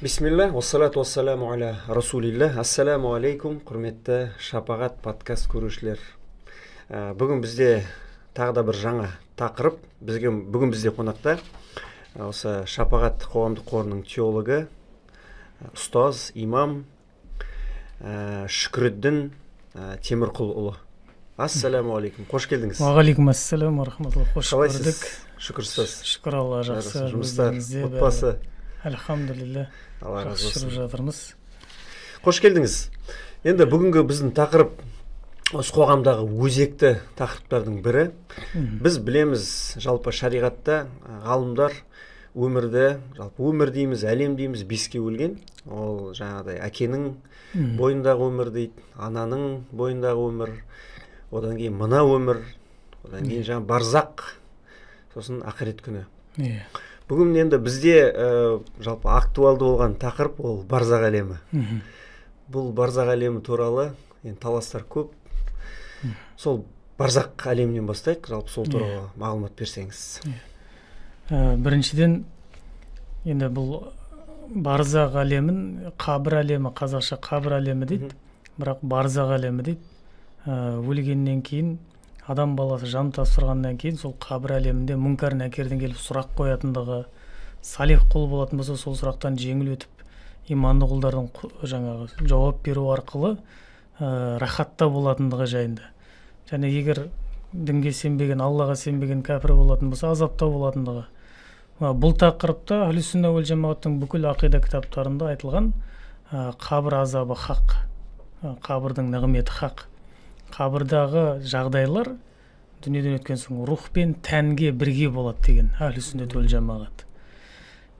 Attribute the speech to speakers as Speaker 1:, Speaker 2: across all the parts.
Speaker 1: Бисмилля, уассалату уассаламу аля расулилля. Ассаламу алейкум, құрметті Шапағат подкаст көрушілер. Бүгін бізде тағы да бір жаңа тақырып. Бүгін бізде қонақта осы Шапағат қоғамдық қорының теологы, ұстаз, имам Шүкірддін Темірқұлұлы. Ассаламу алейкум, қош келдіңіз.
Speaker 2: Уағалейкум ассалам, рахматуллах, қош көрдік.
Speaker 1: Шүкір ұстаз.
Speaker 2: Шүкір Алла, жақсы.
Speaker 1: Жұмыстар, отбасы.
Speaker 2: Альхамдулилля. Жақсы жүріп жатырмыз.
Speaker 1: Қош келдіңіз. Енді бүгінгі біздің тақырып осы қоғамдағы өзекті тақырыптардың бірі. Біз білеміз, жалпы шариғатта ғалымдар өмірді, жалпы өмір дейміз, әлем дейміз, беске бөлген. Ол жаңағыдай әкенің бойындағы өмір дейді, ананың бойындағы өмір, одан кейін мына өмір, одан кейін жаңа барзақ, сосын ақырет күні. Бүгін енді бізде жалпы актуалды болған тақырып ол барзақ әлемі. Бұл барзақ әлемі туралы таластар көп. Сол барзақ әлемінен бастайық, жалпы сол туралы мағлұмат берсеңіз.
Speaker 2: Біріншіден, енді бұл барзақ әлемін, қабір әлемі, қазақша қабір әлемі дейді, бірақ барзақ әлемі дейді. Өлгеннен кейін, адам баласы жан тапсырғаннан кейін сол қабір әлемінде мүнкар нәкерден келіп сұрақ қоятындығы, салих құл болатын болса сол сұрақтан жеңіл өтіп, иманды құлдардың жаңағы жауап беру арқылы рахатта болатындығы жайында. Және егер дінге сенбеген, Аллаға сенбеген кәпір болатын болса азапта болатындығы. Бұл тақырыпта Ахлүс-сүнна уәл жамағаттың бүкіл ақида кітаптарында айтылған қабір азабы хақ, қабірдің нығметі хақ. Қабірдағы жағдайлар дүниеден өткен соң рух пен тәнге бірге болады деген Ахлүс-сүнна уәл жамағат.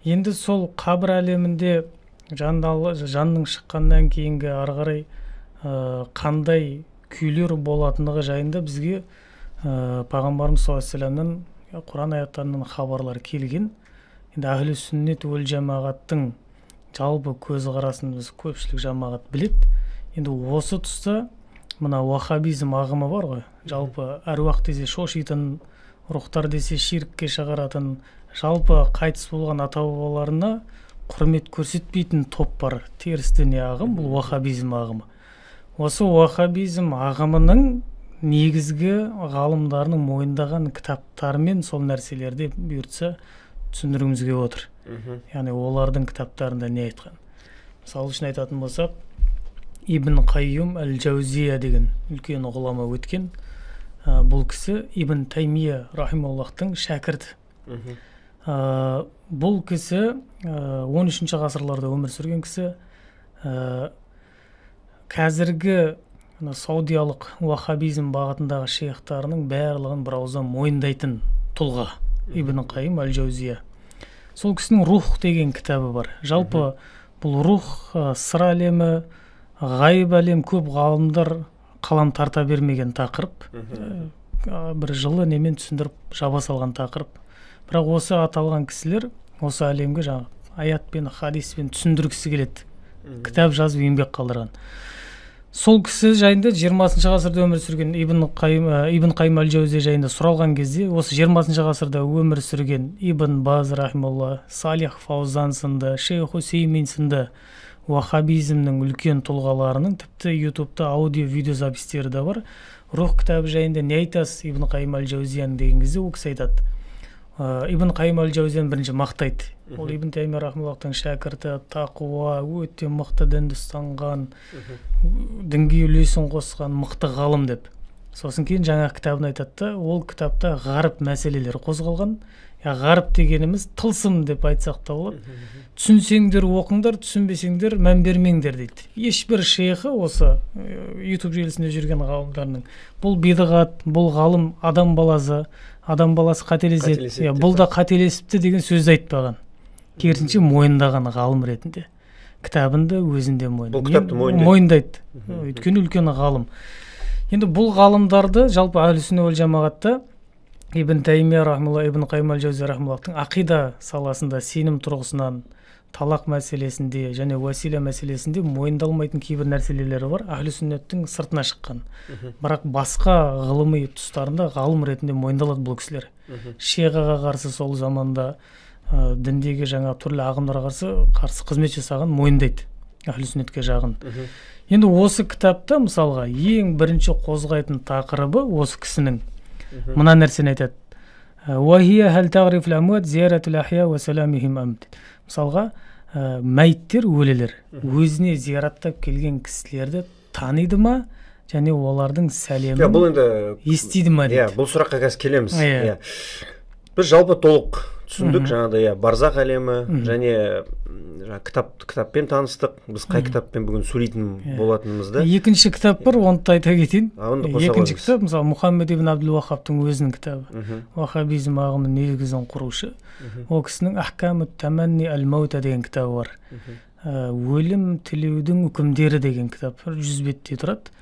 Speaker 2: Енді сол қабір әлемінде жанның шыққаннан кейінгі ары қарай қандай күйлер болатындығы жайында бізге пайғамбарымыз саллаллаху алейхи вассаламнан Құран аяттарынан хабарлар келген. Енді Ахлүс-сүнна уәл жамағаттың жалпы көзқарасын біз көпшілік жамағат біледі. Енді осы тұста мына уахабизм ағымы бар ғой, жалпы әруақ десе шошитын, рухтар десе ширкке шығаратын, жалпы қайтыс болған ата-бабаларына құрмет көрсетпейтін топ бар, теріс діни ағым, бұл уахабизм ағымы. Осы уахабизм ағымының негізгі ғалымдарының мойындаған кітаптарымен сол нәрселерді бұйыртса түсіндіруімізге отыр. Яғни олардың кітаптарында не айтқан. Мысалы үшін айтатын болсақ, Ибн Қайюм әл-Жаузия деген үлкен ғұлама өткен. Бұл кісі Ибн Таймия рахималлахтың шәкірті. Бұл кісі 13-ші ғасырларда өмір сүрген кісі. Қазіргі саудиялық уахабизм бағытындағы шейхтарының барлығын бір ауыздан мойындайтын тұлға Ибн Қайюм әл-Жаузия. Сол кісінің рух деген кітабы бар. Жалпы бұл рух, сыр әлемі, ғайып әлем, көп ғалымдар қалам тарта бермеген тақырып. Бір жылы немен түсіндіріп жаба салған тақырып. Бірақ осы аталған кісілер осы әлемге жаңа аятпен, хадиспен түсіндіргісі келеді. Кітап жазып еңбек қалдырған. Сол кісі жайында 20-шы ғасырда өмір сүрген Ибн Қайым әл-Жаузия жайында сұралған кезде, осы 20-шы ғасырда өмір сүрген Ибн Баз рахималла, Салих Фаузан сынды, Шейх Усеймин сынды уахабизмнің үлкен тұлғаларының тіпті ютубта аудио-видео запистері де бар. Рух кітабы жайында не айтасыз Ибн Қайым әл-Жаузияны деген кезде ол кісі айтады. Ибн Қайым әл-Жаузияны бірінші мақтайды. Ол Ибн Таймия рахималлахтың шәкірті, тақуа, өте мықты дінді ұстанған, дінге үлесін қосқан мықты ғалым деп. Сосын кейін жаңа кітабын айтады, ол кітапта ғарып мәселелер қозғалған. Ғарып дегеніміз тылсым деп айтсақ та болады. Түсінсеңдер оқыңдар, түсінбесеңдер мән бермеңдер дейді. Ешбір шейхі осы YouTube желісінде жүрген ғалымдарының бұл бидғат, бұл ғалым адам баласы қателеседі. Бұл да қателесіпті деген сөзді айтпаған. Керісінше мойындаған ғалым ретінде. Кітабында өзінде мойындайды. Өйткені үлкен ғалым. Енді бұл ғалымдарды жалпы Ахлүс-сүнна уәл жамағатта Ибн Таймия рахималла, Ибн Қайым әл-Жаузия рахималлахтың ақида саласында сенім тұрғысынан, талақ мәселесінде және уәсила мәселесінде мойындалмайтын кейбір нәрселері бар. Ахлүс-сүннеттің сыртына шыққан. Бірақ басқа ғылыми тұстарында ғалым ретінде мойындалады бұл кісілер. Шиғаға қарсы сол заманда діндегі жаңа түрлі ағымдарға қарсы қызмет жасаған мойындайды әхлі сүннетке жағын. Енді осы кітапта мысалға ең бірінші қозғайтын тақырыбы осы кісінің мына нәрсені айтады. Мысалға мәйттер, өлелер өзіне зияраттап келген кісілерді таниды ма, және олардың сәлемін естиді ма дейді.
Speaker 1: Бұл сұраққа қазір келеміз. Біз жалпы толық түсіндік, жаңағыдай барзақ әлемі, және кітаппен таныстық. Біз қай кітаппен бүгін сөйлейтін болатынымызды.
Speaker 2: Екінші кітап бар, оны айта кетейін. Екінші кітап, мысалы, Мұхаммед ибн Абдул-Вахабтың өзінің кітабы. Вахабизм ағымының негізін құрушы. Ол кісінің Ахкамут Таманни аль-Маута деген кітабы бар. Өлім тілеудің үкімдері деген кітап 100 бетте тұрады.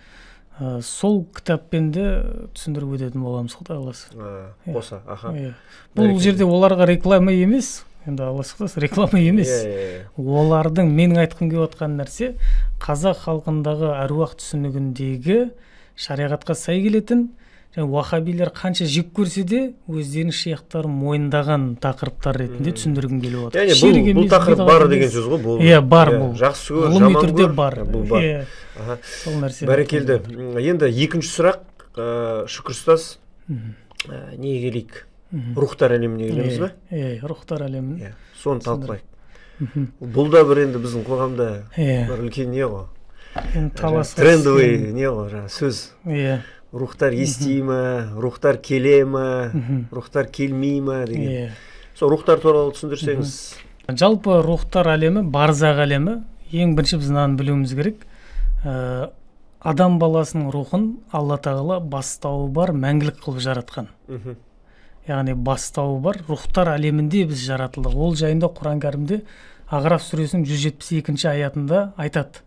Speaker 2: Сол кітаппен де түсіндіріп өтетін боламыз, Құдай қаласа.
Speaker 1: Қоса, аха.
Speaker 2: Бұл жерде оларға реклама емес, енді Алла сақтасын, реклама емес. Олардың менің айтқым келіп отқан нәрсе қазақ халқындағы әруақ түсінігіндегі шариғатқа сай келетін, уахабилер қанша жек көрсе де өздерінің шейхтарын мойындаған тақырыптар ретінде түсіндіргім келіп отыр.
Speaker 1: Яғни бұл тақырып бар деген сөз ғой, бұл.
Speaker 2: Иә, бар бұл.
Speaker 1: Жақсы көр, жаман көр,
Speaker 2: бар.
Speaker 1: Бұл бар.
Speaker 2: Сол нәрсе.
Speaker 1: Бәрекелді. Енді екінші сұрақ, Шүкір ұстаз, неге келейік? Рухтар әлеміне келеміз ба?
Speaker 2: Рухтар әлеміне.
Speaker 1: Соны талқылайық. Бұл да бір енді біздің қоғамда бір үлкен не ғой? Трендовый не ғой, сөз. Рухтар ести ма, рухтар келе ма, рухтар келмей ма деген. Сол рухтар туралы түсіндірсеңіз.
Speaker 2: Жалпы рухтар әлемі, барзақ әлемі, ең бірінші біз мынаны білуіміз керек. Адам баласының рухын Алла тағала бастауы бар мәңгілік қылып жаратқан. Яғни бастауы бар рухтар әлемінде біз жаратылдық. Ол жайында Құран кәрімде Ағраф сүресінің 172-ші аятында айтады.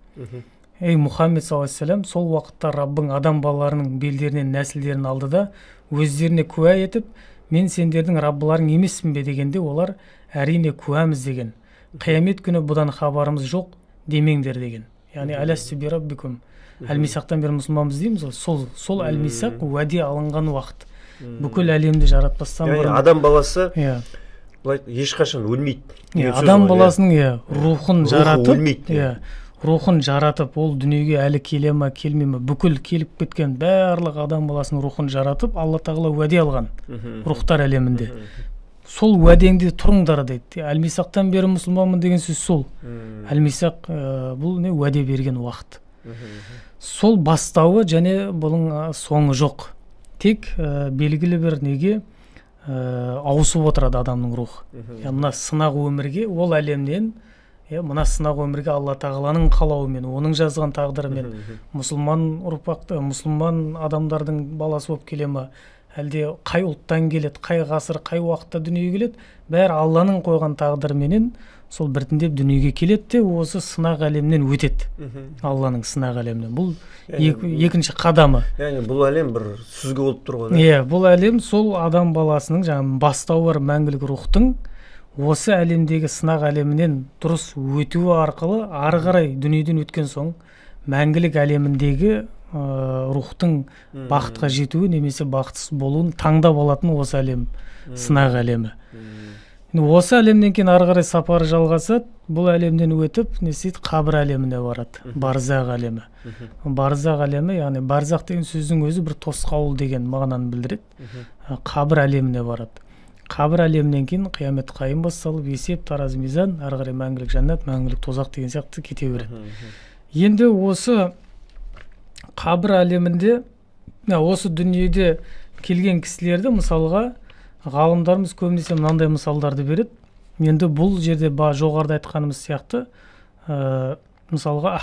Speaker 2: Ей Мұхаммед саллаллаху сол уақытта Раббың адам балаларының белдерінен нәсілдерін алды да өздеріне куә етіп, мен сендердің Раббыларың емеспін бе дегенде, олар әрине куәміз деген. Қиямет күні бұдан хабарымыз жоқ демеңдер деген. Яғни әләстү би раббикум. Әл-Мисақтан бері мұсылманбыз дейміз. Сол Әл-Мисақ уәде алынған уақыт. Бүкіл әлемді жаратпастан бұрын.
Speaker 1: Адам баласы ешқашан өлмейді.
Speaker 2: Адам баласының рухын жаратып, рухын жаратып, ол дүниеге әлі келе ма, келмей ма, бүкіл келіп кеткен барлық адам баласының рухын жаратып, Алла тағала уәде алған рухтар әлемінде. Сол уәдеңде тұрыңдар дейді. Әл-Мисақтан бері мұсылманмын деген сөз сол. Әл-Мисақ бұл не уәде берген уақыт. Сол бастауы және бұның соңы жоқ. Тек белгілі бір неге ауысып отырады адамның рух. Мына сынақ өмірге, ол әлемнен мына сынақ өмірге Алла тағаланың қалауымен, оның жазған тағдырымен мұсылман ұрпақты, мұсылман адамдардың баласы болып келе ма, әлде қай ұлттан келеді, қай ғасыр, қай уақытта дүниеге келеді, бәрі Алланың қойған тағдырменен сол біртіндеп дүниеге келеді де осы сынақ әлемінен өтеді. Алланың сынақ әлемінен. Бұл екінші қадамы.
Speaker 1: Яғни бұл әлем бір сүзгі болып тұр ғой.
Speaker 2: Бұл әлем сол адам баласының жаңағы бастауы бар мәңгілік рухтың осы әлемдегі сынақ әлемінен дұрыс өтуі арқылы ары қарай дүниеден өткен соң мәңгілік әлеміндегі рухтың бақытқа жетуі немесе бақытсыз болуын таңдап алатын осы әлем, сынақ әлемі. Осы әлемнен кейін ары қарай сапары жалғасады, бұл әлемден өтіп, қабір әлеміне барады, барзақ әлемі. Барзақ әлемі, яғни барзақ деген сөздің өзі бір тосқауыл деген мағынаны білдіреді. Қабір әлеміне барады. Қабір әлемінен кейін қиямет қайым басталып, есеп, таразы, мизан, ары қарай мәңгілік жәннат, мәңгілік тозақ деген сияқты кете береді. Енді осы қабір әлемінде, осы дүниеде келген кісілерді мысалға ғалымдарымыз көбінесе мынандай мысалдарды береді. Енді бұл жерде жоғарыда айтқанымыз сияқты, мысалға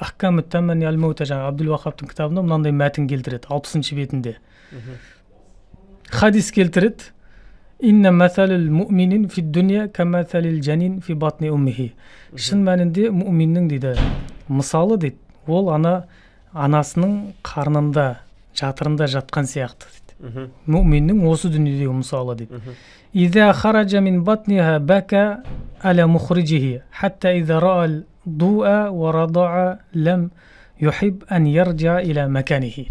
Speaker 2: Ахкамут Таманни аль-Маута жаңа Абдул-Вахабтың кітабында мынандай мәтін келтіреді 60-шы бетінде. Хадис келтіреді. Инна масалил муъминин фи дуния камасалил жанин фи батни уммихи. Шын мәнінде мұъминнің дейді, мысалы дейді, ол анасының қарнында, жатырында жатқан сияқты дейді. Мұъминнің осы дүниедегі мысалы дейді. Иза хараджа мин батниха бака аля мухриджихи, хатта иза раал дуа ва радаа лам юхиб ан ярджа иля маканихи.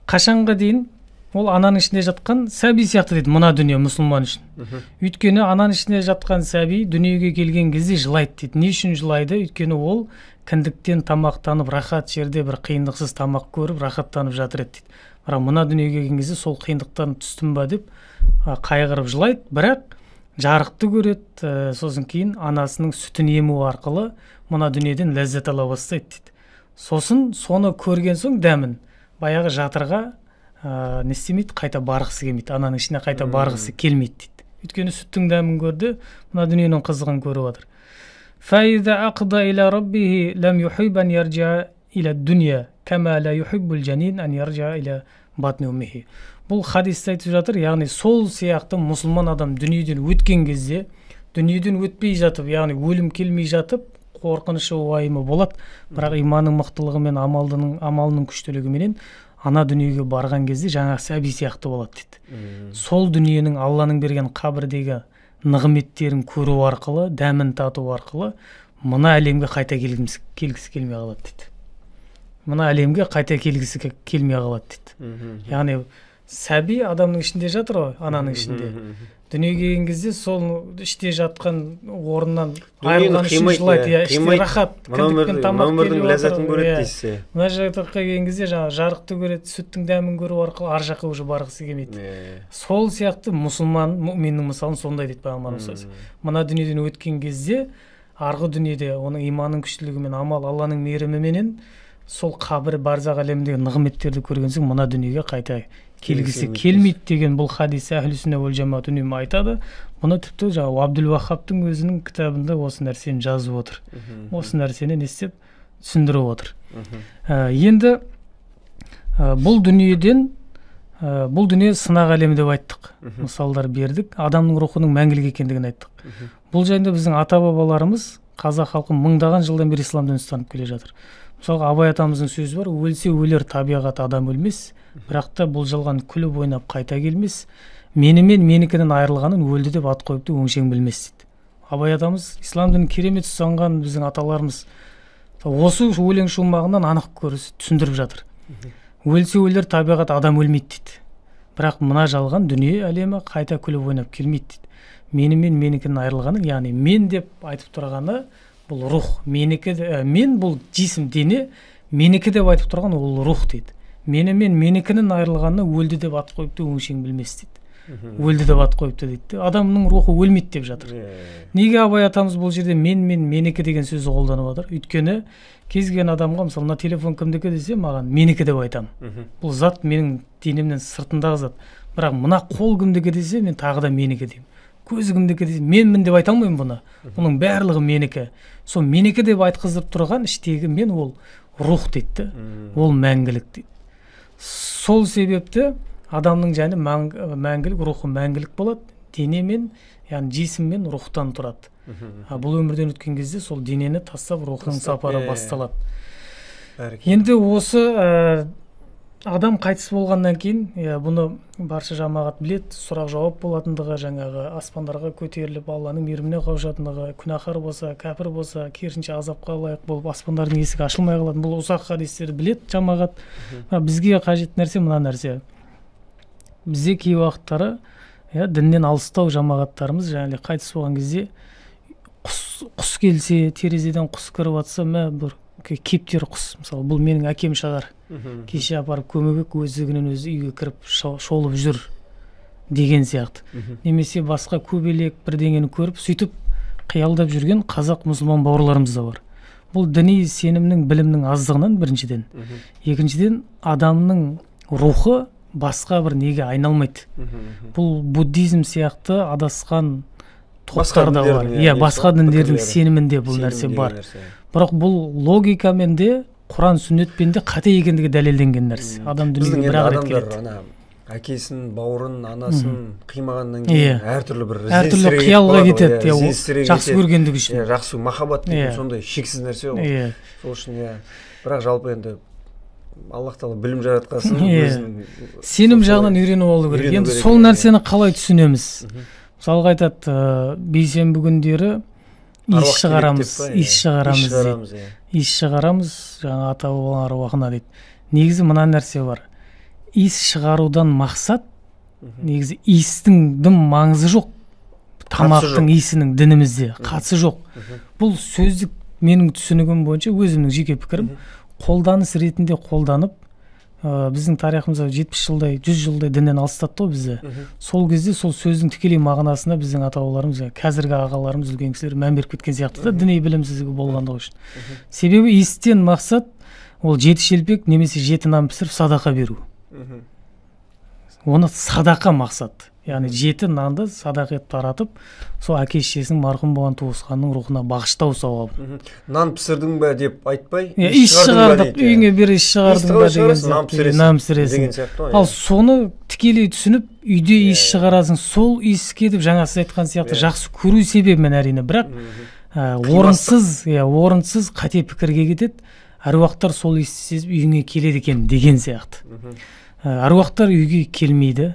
Speaker 2: Қашанға дейін ол ананың ішінде жатқан сәби сияқты дейді мына дүние мұсылман үшін. Өйткені ананың ішінде жатқан сәби дүниеге келген кезде жылайды дейді. Не үшін жылайды? Өйткені ол кіндіктен тамақтанып, рахат жерде бір қиындықсыз тамақ көріп, рахаттанып жатыр еді дейді. Бірақ мына дүниеге келген кезде сол қиындықтан түстім ба деп қайғырып жылайды, бірақ жарықты көреді, сосын кейін анасының сүтін ему арқылы мына дүниеден ләззат ала бастайды дейді. Сосын соны көрген соң дәмін баяғы жатырға не істемейді, қайта барғысы келмейді, ананың ішіне қайта барғысы келмейді дейді. Өйткені сүттің дәмін көрді, мына дүниенің қызығын көріп отыр. فَإِذَا أَقْضَى إِلَى رَبِّهِ لَمْ يُحِبْ أَنْ يَرْجَعَ إِلَى الدُّنْيَا كَمَا لَا يُحِبُّ الْجَنِينَ أَنْ يَرْجَعَ إِلَى بَطْنِ أُمِّهِ. Бұл хадисте айтып жатыр, яғни сол сияқты мұсылман адам дүниеден өткен кезде, дүниеден өтпей жатып, яғни өлім келмей жатып, қорқынышы уайымы болады, бірақ иманның мықтылығы мен амалының күштілігіменен ана дүниеге барған кезде жаңа сәби сияқты болады дейді. Сол дүниенің Алланың берген қабірдегі нығметтерін көру арқылы, дәмін тату арқылы мына әлемге қайта келгісі келмей қалады дейді. Мына әлемге қайта келгісі келмей қалады дейді. Яғни сәби адамның ішінде жатыр ғой, ананың ішінде. Дүниеге келген кезде сол іште жатқан орыннан айырылған үшін жылайды, іште рахат, кіндіктен тамақ келіп
Speaker 1: ләззатын көреді дейсіз.
Speaker 2: Мына жаққа келген кезде жарықты көреді, сүттің дәмін көру арқылы ар жаққа уже барғысы келмейді. Сол сияқты мұсылман, мүминнің мысалын сондай дейді пайғамбарымыз саллаллаху алейхи вассалам. Мына дүниеден өткен кезде арғы дүниеде оның иманның күштілігімен, амал Алланың мейіріміменен сол қабір барзақ әлеміндегі нығметтерді көрген соң мына дүниеге қайта келгісі келмейді деген бұл хадис әхлі сүнна уәл жамаат үнемі айтады. Бұны тіпті жаңағы Абдул Ваххабтың өзінің кітабында осы нәрсені жазып отыр. Осы нәрсені не істеп түсіндіріп отыр. Енді бұл дүние сынақ әлемі деп айттық. Мысалдар бердік. Адамның рухының мәңгілік екендігін айттық. Бұл жайында біздің ата-бабаларымыз, қазақ халқы мыңдаған жылдан бері ислам дінін ұстанып келе жатыр. Мысалға Абай атамыздың сөзі бар, өлсе өлер табиғат, адам өлмес, бірақ та бұл жалған күліп ойнап қайта келмес, менімен менікінен айырылғанын өлді деп ат қойыпты өңшең білмес дейді. Абай атамыз ислам дінін керемет ұстанған біздің аталарымыз осы өлең шумағынан анық түсіндіріп жатыр. Өлсе өлер табиғат, адам өлмейді дейді. Бірақ мына жалған дүние әлемі қайта күліп ойнап келмейді дейді. Менімен менікінен айырылғанын, яғни мен деп айтып тұрғаны бұл рух, менікі, мен бұл жисім дене, менікі деп айтып тұрған ол рух дейді. Менімен менікінен айырылғанына өлді деп ат қойыпты өңшең білмес дейді. Өлді деп ат қойыпты дейді. Адамның рухы өлмейді деп жатыр. Неге Абай атамыз бұл жерде менікі деген сөзді қолданып отыр? Өйткені кез келген адамға, мысалы, мына телефон кімдікі десе, маған менікі деп айтамын. Бұл зат менің денемнен сыртындағы зат. Бірақ мына қол кімдікі десе, мен тағы да менікі деймін. Көзі кімдікі десе, менмін деп айта алмаймын бұны. Бұның барлығы менікі. Сол менікі деп айтқыздырып тұрған іштегі мен ол рух дейді. Ол мәңгілік дейді. Сол себепті адамның жаны мәңгілік, рухы мәңгілік болады. Денемен, яғни жисіммен рухтан тұрады. Бұл өмірден өткен кезде сол денені тастап рухтың сапары басталады. Енді осы адам қайтыс болғаннан кейін, бұны барша жамағат білет, сұрақ жауап болатындығы, жаңағы аспандарға көтеріліп, Алланың мейіріміне қауышатындығы, күнәһар болса, кәпір болса, керісінше азапқа лайық болып, аспандардың есігі ашылмай қалатын. Бұл ұзақ хадистерді білет жамағат. Бізге қажет нәрсе мына нәрсе. Бізде кей уақыттары діннен алыстау жамағаттарымыз, жаңағы қайтыс болған кезде құс келсе, терезеден құс кіріп жатса, бір кептер құс, мысалы, бұл менің әкем шығар. Кеше апарып көмек өздігінен өзі үйге кіріп шолып жүр деген сияқты. Немесе басқа көбелек бірдеңені көріп, сөйтіп қиялдап жүрген қазақ мұсылман бауырларымыз да бар. Бұл діни сенімнің, білімнің аздығынан біріншіден. Екіншіден, адамның рухы басқа бір неге айналмайды. Бұл буддизм сияқты адасқан топтар да бар. Басқа діндердің сенімінде бұл нәрсе бар. Бірақ бұл логикамен де, Құран сүннетпен де қате екендігі дәлелденген нәрсе. Адам дүниеге бір-ақ рет келеді.
Speaker 1: Әкесін, бауырын, анасын қимағаннан кейін әртүрлі бір
Speaker 2: әртүрлі қиялға кетеді, жақсы көргендігі үшін.
Speaker 1: Жақсы махаббат деген сондай шексіз нәрсе ғой. Сол үшін бірақ жалпы енді Аллах тағала білім жаратқасын,
Speaker 2: сенім жағынан үйреніп алу керек. Енді сол нәрсені қалай түсінеміз? Мысалға айтады, бейсенбі күндері иіс шығарамыз, жаңа ата бабалар аруағына дейді. Негізі мына нәрсе бар. иіс шығарудан мақсат негізі иістің дым маңызы жоқ, тамақтың иісінің дінімізде қатысы жоқ. Бұл сөздік менің түсінігім бойынша, өзімнің жеке пікірім, қолданыс ретінде қолданып, біздің тарихымызда 70 жылдай 100 жылдай діннен алыстатты ғой бізді. Сол кезде сол сөздің тікелей мағынасына біздің ата-бабаларымыз, қазіргі ағаларымыз, үлкен кісілер мән беріп кеткен сияқты да, діни білімсіздігі болғандығы үшін. Себебі иістен мақсат ол 7 шелпек немесе 7 нан пісіріп садақа беру. Оны садақа мақсат. Яғни 7 нанды садақ етіп таратып, сол әке-шешесінің марқұм болған туысқанның рухына бағыштау сауабы.
Speaker 1: Нан пісірдің бе деп айтпай,
Speaker 2: иіс шығардық, үйіңе бір иіс шығардың ба деген нан пісіресің. Ал соны тікелей түсініп, үйде иіс шығарасың, сол иіске деп жаңа сіз айтқан сияқты жақсы көру себебімен әрине, бірақ орынсыз қате пікірге кетеді. Әруақтар сол иісті сезіп үйіңе келеді екен деген сияқты. Әруақтар үйге келмейді.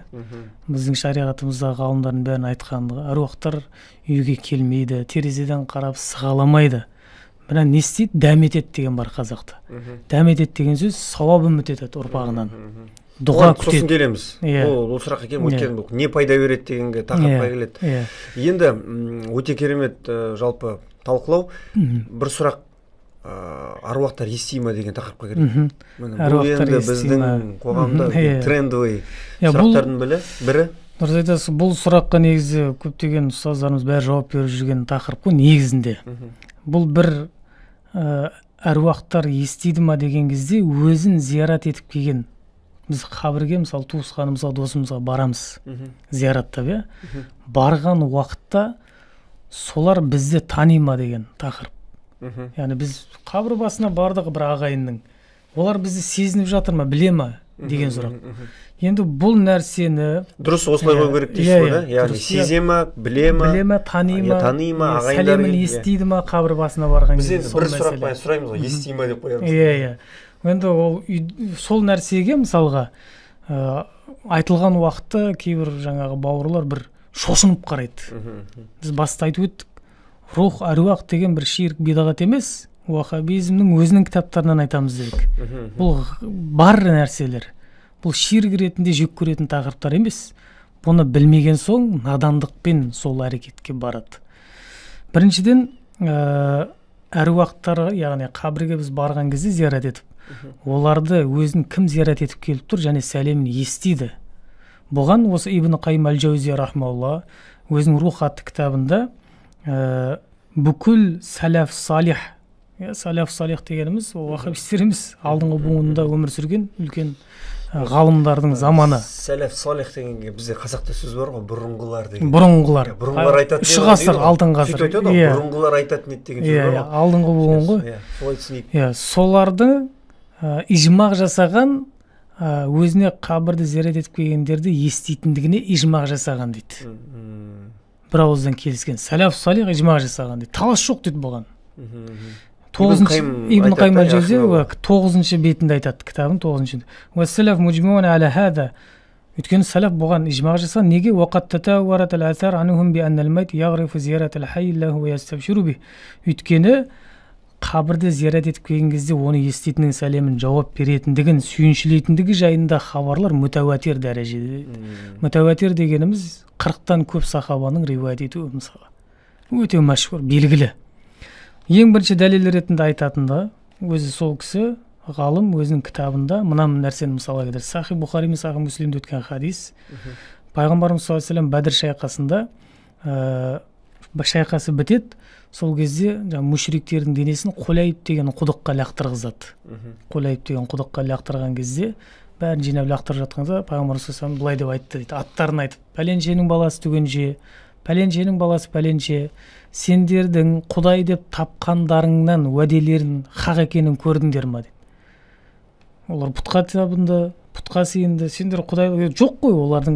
Speaker 2: Біздің шариғатымызда ғалымдардың бәрін айтқанды, әруақтар үйге келмейді, терезеден қарап сығаламайды. Мына не істейді? Дәм етеді деген бар қазақта. Дәм етеді деген сөз сауап үміт етеді ұрпағынан. Дұға күтеді. Сосын
Speaker 1: келеміз. Ол сұраққа келіп өткен не пайда береді дегенге тақырыпқа келеді. Енді өте керемет жалпы талқылау. Бір сұрақ, аруақтар ести ма деген тақырыпқа келеді. Бұл енді біздің қоғамда трендовый сұрақтардың бірі.
Speaker 2: Дұрыс айтасыз, бұл сұраққа негізі көптеген ұстаздарымыз бәрі жауап беріп жүрген тақырып қой негізінде. Бұл бір әруақтар естиді ма деген кезде өзін зиярат етіп келген. Біз қабірге, мысалы, туысқанымызға, досымызға барамыз зияратта, барған уақытта солар бізді тани ма деген тақырып. Яғни біз қабір басына бардық бір ағайынның, олар бізді сезініп жатыр ма, біле ма деген сұрақ. Енді бұл нәрсені
Speaker 1: дұрыс осылай қою керек дейсіз ғой да? Яғни сезе ма, біле ма,
Speaker 2: тани ма, сәлемін естиді ма қабір басына барған
Speaker 1: кезде. Біз енді бір сұрақ қойып сұраймыз ғой, ести ма деп қоямыз.
Speaker 2: Енді ол сол нәрсеге мысалға айтылған уақытта кейбір жаңағы бауырлар бір шошынып қарайды. Біз баста айтып өттік. Рух, әруақ деген бір ширк бидағат емес, уахабизмнің өзінің кітаптарынан айтамыз дедік. Бұл бар нәрселер. Бұл ширк ретінде жек көретін тақырыптар емес. Бұны білмеген соң надандықпен сол әрекетке барады. Біріншіден, әруақтарға, яғни қабірге біз барған кезде зиярат етіп, оларды өзін кім зиярат етіп келіп тұр және сәлемін естиді. Бұған осы Ибн Қайым әл-Жаузия рахмаулла өзінің Рух атты кітабында бүкіл сәләф салих, сәләф салих дегеніміз уахабистер емес, алдыңғы буынында өмір сүрген үлкен ғалымдардың заманы.
Speaker 1: Сәләф салих дегенге бізде қазақта сөз бар ғой, бұрынғылар деген.
Speaker 2: Бұрынғылар
Speaker 1: айтатын.
Speaker 2: 3 ғасыр, алтын ғасыр.
Speaker 1: Сөйтіп айтады ғой, бұрынғылар айтатын еді деген сөз бар ғой.
Speaker 2: Алдыңғы буын ғой. Соларды ижмақ жасаған, өзіне қабірді зиярат етіп келгендерді еститіндігіне ижмақ жасаған дейді. Бір ауыздан келіскен. Сәләф салих ижмақ жасаған дейді. Талас жоқ дейді бұған. Ибн Қайым әл-Жаузия 9-шы бетінде айтады кітабын, 9-шы. Уәссәләф мужмиун әлә хәза. Өйткені сәләф бұған ижмақ жасаған. Неге? Уақат татауарат әл-әсар анхум би аннал майт яғрифу зиярат әл-хай лаху ва ястабширу би. Өйткені қабірді зиярат етіп келген кезде оны еститіннің сәлемін жауап беретіндігін, сүйіншілейтіндігі жайында хабарлар мүтәуатир дәрежеде. Мүтәуатир дегеніміз 40-тан көп сахабаның риуаят етуі мысалы. Өте мәшһүр, белгілі. Ең бірінші дәлел ретінде айтатында, өзі сол кісі ғалым өзінің кітабында мына нәрсені мысалға келтірді. Сахи Бұхари мен Сахи Муслимде өткен хадис. Пайғамбарымыз саллаллаху алейхи ва саллям Бәдір шайқасында шайқасы бітеді. Сол кезде мүшриктердің денесін Құлайып деген құдыққа лақтырғызады. Құлайып деген құдыққа лақтырған кезде бәрін жинап лақтырып жатқанда Пайғамбарымыз саллаллаху алейхи ва саллям былай деп айтты дейді. Аттарын айтып, пәленшенің баласы түгенше, пәленшенің баласы пәленше, сендердің Құдай деп тапқандарыңнан уәделерін хақ екенін көрдіңдер ма дейді. Олар пұтқа табынды, пұтқа сиынды, сендер Құдай жоқ қой, олардың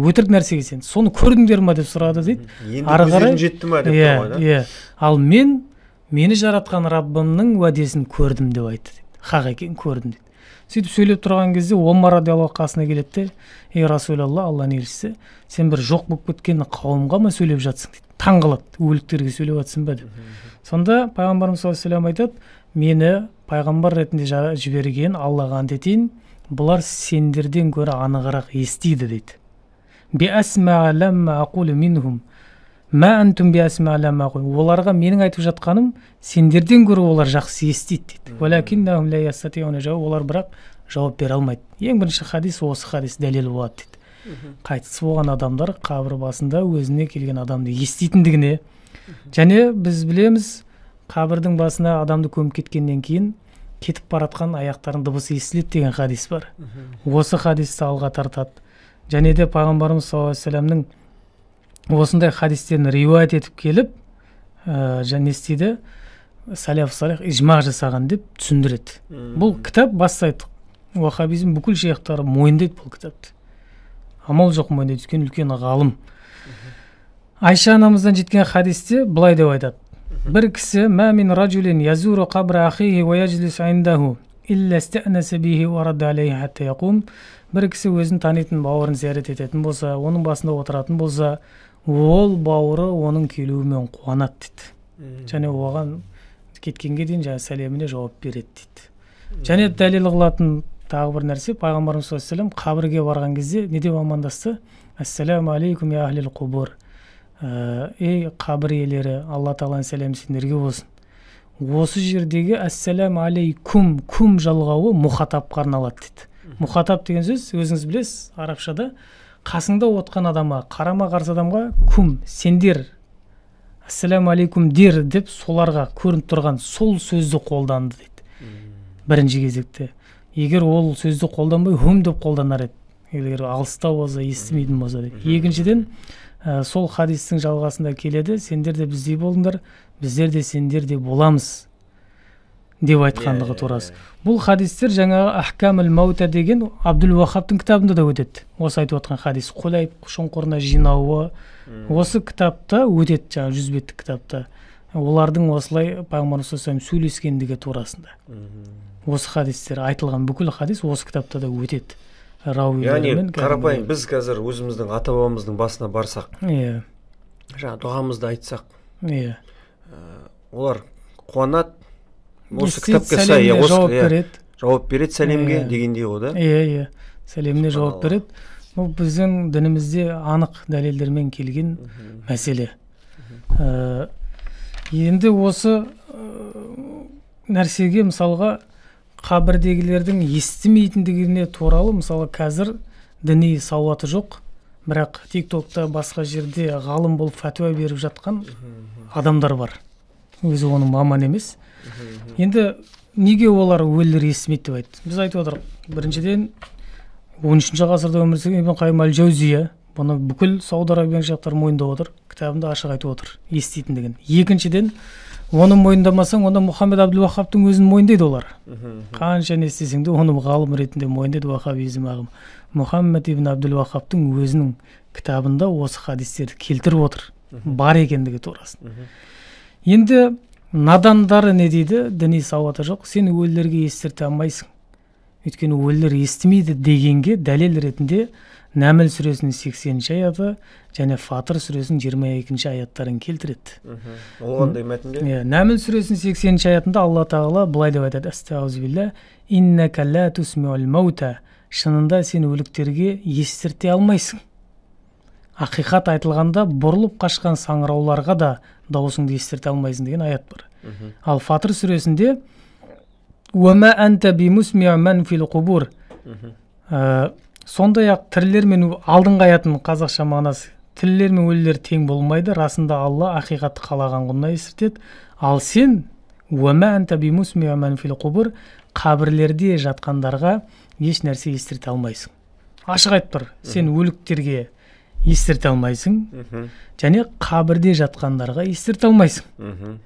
Speaker 2: өтірік нәрсеге сен. Соны көрдіңдер ма деп сұрады дейді.
Speaker 1: Енді көздерің жетті ма деп тұрған,
Speaker 2: да? Ал мені жаратқан Раббымның уәдесін көрдім деп айтты дейді. Хақ екенін көрдім дейді. Сөйтіп сөйлеп тұрған кезде Омар радиаллаху қасына келеді де, ей Расулалла, Алланың елшісі, сен бір жоқ болып кеткен қауымға ма сөйлеп жатсың дейді. Таңғалады, өліктерге сөйлеп жатсың ба деп. Сонда Пайғамбарымыз саллаллаху алейхи ва саллям айтады, мені пайғамбар ретінде жіберген Аллаға ант етейін, бұлар сендерден гөрі анығырақ естиді дейді. Биасма ламма aqulu minhum ма антум биасма ламма aqulu. Оларға менің айтып жатқаным сендерден гөрі олар жақсы естиді дейді. Валакиннахум ла ястатиуна жауап, олар бірақ жауап бере алмайды. Ең бірінші хадис осы хадис дәлел болады дейді. Қайтыс болған адамдар қабір басында өзіне келген адамды еститіндігіне, және біз білеміз қабірдің басына адамды көміп кеткеннен кейін кетіп баратқан аяқтардың дыбысы естіледі деген хадис бар. Осы хадисті алға тартады. Және де пайғамбарымыз саллаллаху алейхи вассаламның осындай хадистерін риуаят етіп келіп, және істейді салаф салих ижма жасаған деп түсіндіреді. Бұл кітап бастайды. Уахабизм бүкіл шейхтары мойындайды бұл кітапты. Амал жоқ мойындайды, өйткені үлкен ғалым. Айша анамыздан жеткен хадисте былай деп айтады. Бір кісі ма мин ражулин язуру қабра ахихи ва яжлис индаху илля стаънаса бихи ва радда алейхи хатта яқум. Бір кісі өзін танитын бауырын зиярат ететін болса, оның басында отыратын болса, ол бауыры оның келуімен қуанады дейді. Және оған кеткенге дейін сәлеміне жауап береді дейді. Және дәлел қылатын тағы бір нәрсе, пайғамбарымыз саллаллаху алейхи вассалам қабірге барған кезде не деп амандасты? Ассаламу алейкум я ахлил қубур. Ей қабір иелері, Алла тағаланың сәлемі сендерге болсын. Осы жердегі ассаламу алейкум кум жалғауы мұхатапқа арналады дейді. Мұхатап деген сөз, өзіңіз білесіз, арабшада қасыңда отқан адамға, қарама қарсы адамға кум, сендер, ассаламу алейкум дер деп соларға көрініп тұрған сол сөзді қолданды дейді. Бірінші кезекте. Егер ол сөзді қолданбай хүм деп қолданар еді. Егер алыста болса, естімейтін болса дейді. Екіншіден, сол хадистің жалғасында келеді, сендер де біздей болыңдар, біздер де сендер де боламыз деп айтқандығы турасы. Бұл хадистер жаңағы Ахкамул Маута деген Абдул Вахабтың кітабында да өтеді. Осы айтып отқан хадис Құлайб шұңқырына жинауы осы кітапта өтеді, жаңағы 100 беттік кітапта. Олардың осылай пайғамбарымыз саллаллаху алейхи вассалам сөйлескендігі турасында. Осы хадистер айтылған бүкіл хадис осы кітапта да өтеді.
Speaker 1: Яғни қарапайым біз қазір өзіміздің ата бабамыздың басына барсақ, жаңа дұғамызды айтсақ, олар қуанады, осы кітапқа сай жауап береді сәлемге дегендей ғой да?
Speaker 2: Сәлеміне жауап береді. Бұл біздің дінімізде анық дәлелдермен келген мәселе. Енді осы нәрсеге мысалға қабірдегілердің естімейтіндігіне туралы, мысалы қазір діни сауаты жоқ, бірақ тиктокта басқа жерде ғалым болып фәтуа беріп жатқан адамдар бар. Өзі оның маман емес. Енді неге олар өлілер естімейді деп айтты? Біз айтып отырық. Біріншіден 13-ші ғасырда өмір сүрген Ибн Қайым әл-Жаузия, бұны бүкіл Сауд Арабияның жақтары мойындап отыр, кітабында ашық айтып отыр еститіндігін. Екіншіден, оны мойындамасаң, онда Мұхаммед Абдул Вахабтың өзін мойындайды олар. Қанша не істесең де оны ғалым ретінде мойындайды вахабизм ағымы. Мұхаммед ибн Абдул Вахабтың өзінің кітабында осы хадистерді келтіріп отыр, бар екендігі турасын. Енді надандары не дейді? Діни сауаты жоқ, сен өлілерге естірте алмайсың. Өйткені өлілер естімейді дегенге дәлел ретінде Нәміл сүресінің 80-ші аяты және Фатыр сүресінің 22-ші аяттарын келтіреді.
Speaker 1: Ол қандай мәтінде?
Speaker 2: Нәміл сүресінің 80-ші аятында Алла тағала былай деп айтады: Астағфирулла, иннака ла тусмиул маута. Шынында сен өліктерге естірте алмайсың. Ақиқат айтылғанда бұрылып қашқан саңырауларға да дауысыңды естірте алмайсың деген аят бар. Ал Фатыр сүресінде уама анта бимусмиу ман фил қубур. Сондай-ақ тірілер мен алдыңғы аятының қазақша мағынасы: тірілер мен өлілер тең болмайды, расында Алла ақиқатты қалаған құнына естіртеді. Ал сен уама анта бимусмиу ман фил қубур, қабірлерде жатқандарға еш нәрсе естірте алмайсың. Ашық айтып тұр, сен өліктерге естірте алмайсың, және қабірде жатқандарға естірте алмайсың.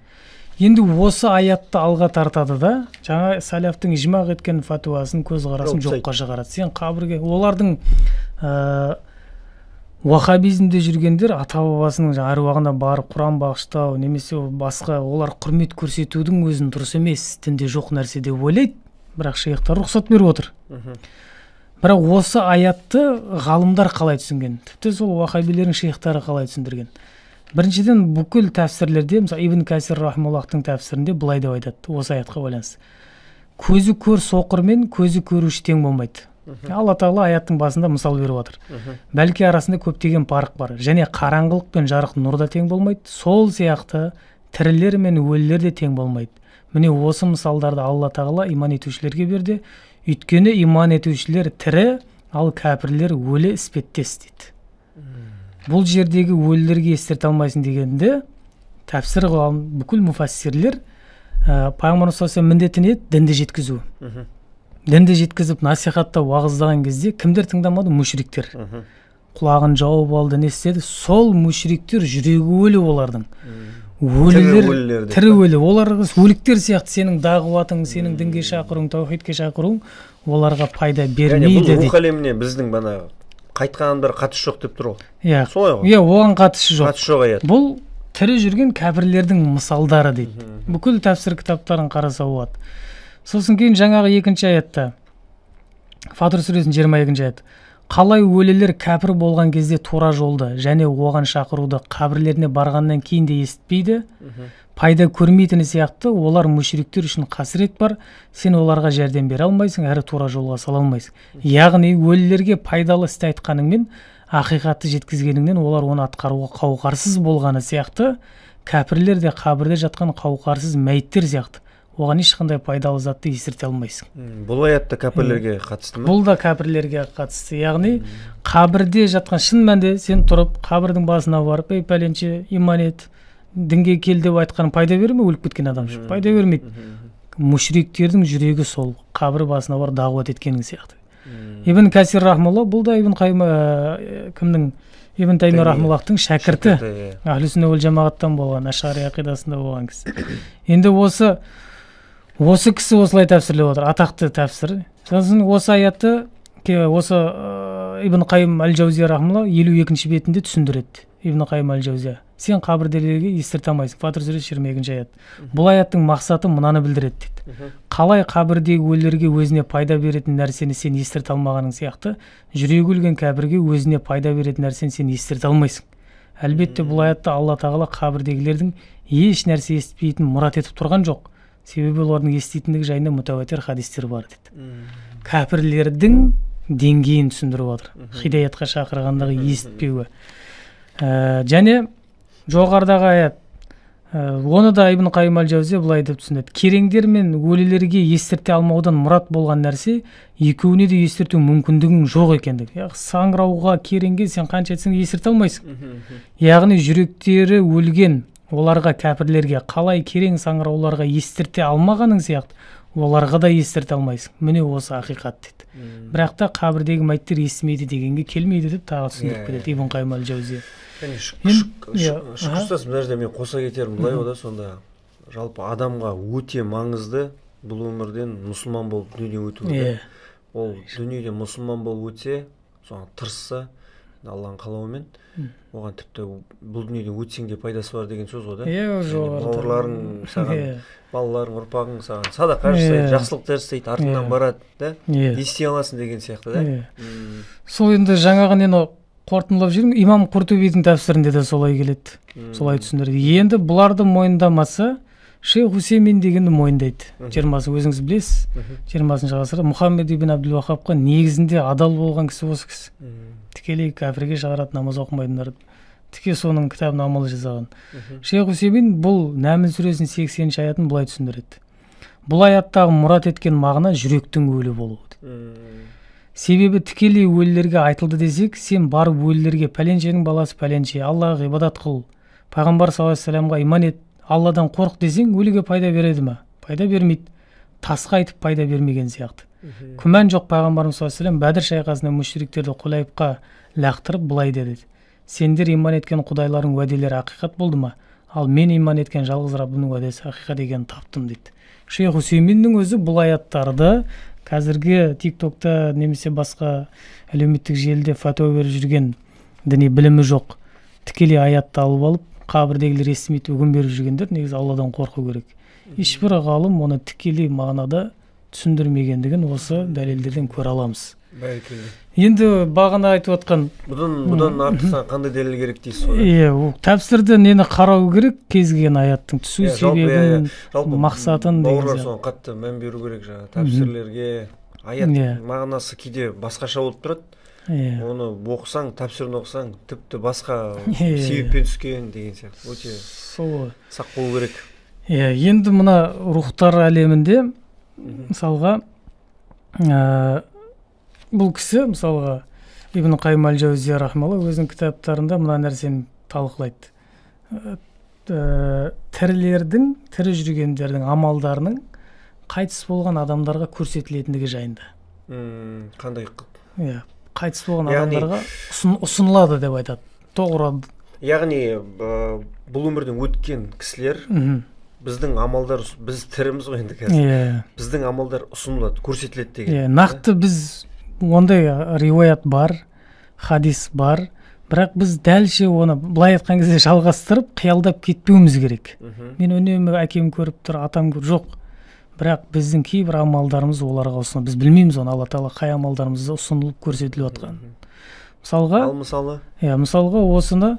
Speaker 2: Енді осы аятты алға тартады да, жаңа салафтың ижмақ еткен фатуасын, көзқарасын жоққа шығарады. Сен қабірге, олардың уахабизмде жүргендер ата-бабасының аруағына барып Құран бағыштау немесе басқа олар құрмет көрсетудің өзін дұрыс емес, дінде жоқ нәрсе деп ойлайды, бірақ шейхтар рұқсат беріп отыр. Бірақ осы аятты ғалымдар қалай түсінген? Тіпті сол уахабилердің шейхтары қалай түсіндірген? Біріншіден, бүкіл тәфсірлерде, мысалы Ибн Кәсир рахмаллахтың тәфсірінде былай деп айтады, осы аятқа байланысты: көзі көр соқыр мен көзі көруші тең болмайды. Алла тағала аяттың басында мысал беріп жатыр. Бәлки арасында көптеген парық бар, және қараңғылық пен жарық нұр да тең болмайды, сол сияқты тірілер мен өлілер де тең болмайды. Міне осы мысалдарды Алла тағала иман етушілерге берді. Өйткені иман етушілер тірі, ал кәпірлер өлі іспеттес дейді. Бұл жердегі өлілерге естірте алмайсың дегенде, тәпсір қылған бүкіл мұфассирлер пайғамбар міндеті не еді? Дінді жеткізу. Дінді жеткізіп насихаттау, уағыздаған кезде кімдер тыңдамады? Мүшриктер. Құлағын жауып алды, не істеді? Сол мүшриктер жүрегі өлі олардың. Өлілер, тірі өлі. Олар өліктер сияқты сенің дағуатың, сенің дінге шақыруың, таухидке шақыруың оларға пайда бермейді дейді.
Speaker 1: Бұл рух әлеміне біздің бана қайтқан бір қатысы жоқ деп тұр ғой.
Speaker 2: Иә,
Speaker 1: солай ғой.
Speaker 2: Иә, оған қатысы жоқ.
Speaker 1: Қатысы жоқ аят.
Speaker 2: Бұл тірі жүрген кәпірлердің мысалдары дейді. Бүкіл тәпсір кітаптарын қараса болады. Сосын кейін жаңағы екінші аятта, Фатыр сүресінің 22-ші аят. Қалай өлілер кәпір болған кезде тура жолды және оған шақыруды қабірлеріне барғаннан кейін де естіпейді, пайда көрмейтіні сияқты олар мүшриктер үшін қасірет бар, сен оларға жәрдем бере алмайсың, әрі тура жолға сала алмайсың. Яғни өлілерге пайдалы істі айтқаныңмен, ақиқатты жеткізгеніңнен олар оны атқаруға қауқарсыз болғаны сияқты, кәпірлер де қабірде жатқан қауқарсыз мәйіттер сияқты. Оған ешқандай пайдалы затты естірте алмайсың.
Speaker 1: Бұл аятта кәпірлерге қатысты ма?
Speaker 2: Бұл да кәпірлерге қатысты. Яғни қабірде жатқан шын мәнде сен тұрып қабірдің басына барып, ей пәленше иман ет, дінге кел деп айтқан пайда бере ме? Өліп кеткен адам үшін пайда бермейді. Мүшриктердің жүрегі сол қабір басына бар дағуат еткенің сияқты. Ибн Касир рахмалла, бұл да Ибн Қайым кімнің? Ибн Таймия рахмаллахтың шәкірті. Ахлі сүнна уәл жамағаттан болған, Ашғари ақидасында болған кісі. Енді осы кісі осылай тәпсірлеп отыр, атақты тәпсір. Сосын осы аятты осы Ибн Қайым әл-Жаузия рахмалла 52-ші бетінде түсіндіреді. Ибн Қайым әл-Жаузия. Сен қабірдерге естірте алмайсың. Фатыр сүресі 22-ші аят. Бұл аяттың мақсаты мынаны білдіреді дейді. Қалай қабірдегі өлілерге өзіне пайда беретін нәрсені сен естірте алмағаның сияқты, жүрегі өлген кәпірге өзіне пайда беретін нәрсені сен естірте алмайсың. Әлбетте бұл аятта Алла тағала қабірдегілердің еш нәрсе естітпейтінін мұрат етіп тұрған жоқ. Себебі олардың еститіндігі жайында мүтәуатир хадистер бар дейді. Кәпірлердің деңгейін түсіндіріп отыр. Хидаятқа шақырғандағы естітпеуі. Және жоғарыдағы аят, оны да Ибн Қайым әл-Жаузия былай деп түсіндіреді. Кереңдер мен өлілерге естірте алмаудан мұрат болған нәрсе екеуіне де естірту мүмкіндігің жоқ екендігі. Яғни саңырауға, кереңге сен қанша айтсаң естірте алмайсың. Яғни жүректері өлген оларға, кәпірлерге қалай керең саңырауларға естірте алмағаның сияқты, оларға да естірте алмайсың. Міне осы ақиқат дейді. Бірақ та қабірдегі мәйіттер естімейді дегенге келмейді деп тағы түсіндіріп кетеді Ибн Қайым әл-Жаузия.
Speaker 1: Шүкірстас, мына жерде мен қоса кетерім былай ода, сонда жалпы адамға өте маңызды бұл өмірден мұсылман болып дүние өту. Ол дүниеден мұсылман болып өтсе, соған тырысса, Алланың қалауымен, оған тіпті бұл дүниеден өтсең де пайдасы бар деген сөз ғой да. Бауырларың саған, балаларың, ұрпағың саған садақа жасайды, жақсылықтар жасайды, артыңнан барады да, ести аласың деген сияқты да.
Speaker 2: Сол енді жаңағы нені қорытындылап жүрмін, имам Құртубидің тәпсірінде де солай келеді, солай түсіндіреді. Енді бұларды мойындамаса, Шейх Хусеймин дегенді мойындайды. 20-сы өзіңіз білесіз, 20-шы ғасырда Мұхаммед ибн Абдул Вахабқа негізінде адал болған кісі осы кісі. Тікелей кәпірге шығарады, намаз оқымайтындар. Тіке соның кітабын амал жасаған. Шейх Хусеймин бұл Нәмл сүресінің 80-ші аятын былай түсіндіреді. Бұл аяттағы мұрат еткен мағына жүректің өлі болуы. Себебі тікелей өлілерге айтылды десек, сен барып өлілерге пәленшенің баласы пәленше, Аллаға ғибадат қыл, пайғамбар саллаллаху алейхи вассаламға иман ет, Алладан қорқ десең, өліге пайда береді ме? Пайда бермейді. Тасқа айтып пайда бермеген сияқты. Күмән жоқ, пайғамбарымыз саллаллаху алейхи вассалам Бәдір шайқасында мүшриктерді Құлайыпқа лақтырып былай деді. Сендер иман еткен құдайлардың уәделері ақиқат болды ма? Ал мен иман еткен жалғыз Раббымның уәдесі ақиқат екенін таптым дейді. Шейх Хусейминнің өзі бұл аяттарды қазіргі тиктокта немесе басқа әлеуметтік желіде фатуа беріп жүрген діни білімі жоқ тікелей аятты алып алып қабірдегілер естімейді үгін беріп жүргендер негізі Алладан қорқу керек. Ешбір ғалым оны тікелей мағынада түсіндірмегендігін осы дәлелдерден көре аламыз. Енді бағана айтып отқан
Speaker 1: бұдан артықсан қандай дәлел керек дейсіз ғой?
Speaker 2: Тәпсірді нені қарау керек, кез келген аяттың түсу себебін, мақсатын деген сияқты.
Speaker 1: Бауырлар соған қатты мән беру керек жаңағы тәпсірлерге, аят мағынасы кейде басқаша болып тұрады. Оны оқысаң, тапсырын оқысаң, тіпті басқа себеппен түскен деген сияқты. Өте сақ болу керек.
Speaker 2: Енді мына рухтар әлемінде мысалға бұл кісі мысалға Ибн Қайым әл-Жаузия рахмалла өзінің кітаптарында мына нәрсені талқылайды. Тірі жүргендердің амалдарының қайтыс болған адамдарға көрсетілетіндігі жайында.
Speaker 1: Қандай?
Speaker 2: Қайтыс болған адамдарға ұсынылады деп айтады. Тоғры.
Speaker 1: Яғни бұл өмірден өткен кісілер біздің амалдар, біз тіріміз ғой енді қазір. Біздің амалдар ұсынылады, көрсетіледі деген.
Speaker 2: Нақты біз ондай риуаят бар, хадис бар, бірақ біз дәлше оны былай айтқан кезде жалғастырып, қиялдап кетпеуіміз керек. Мен үнемі әкем көріп тұр, атам көріп жоқ. Бірақ біздің кейбір амалдарымыз оларға ұсынылып, біз білмейміз оны, Алла Тағала қай амалдарымызды ұсынылып көрсетіліп жатқан. Мысалға осыны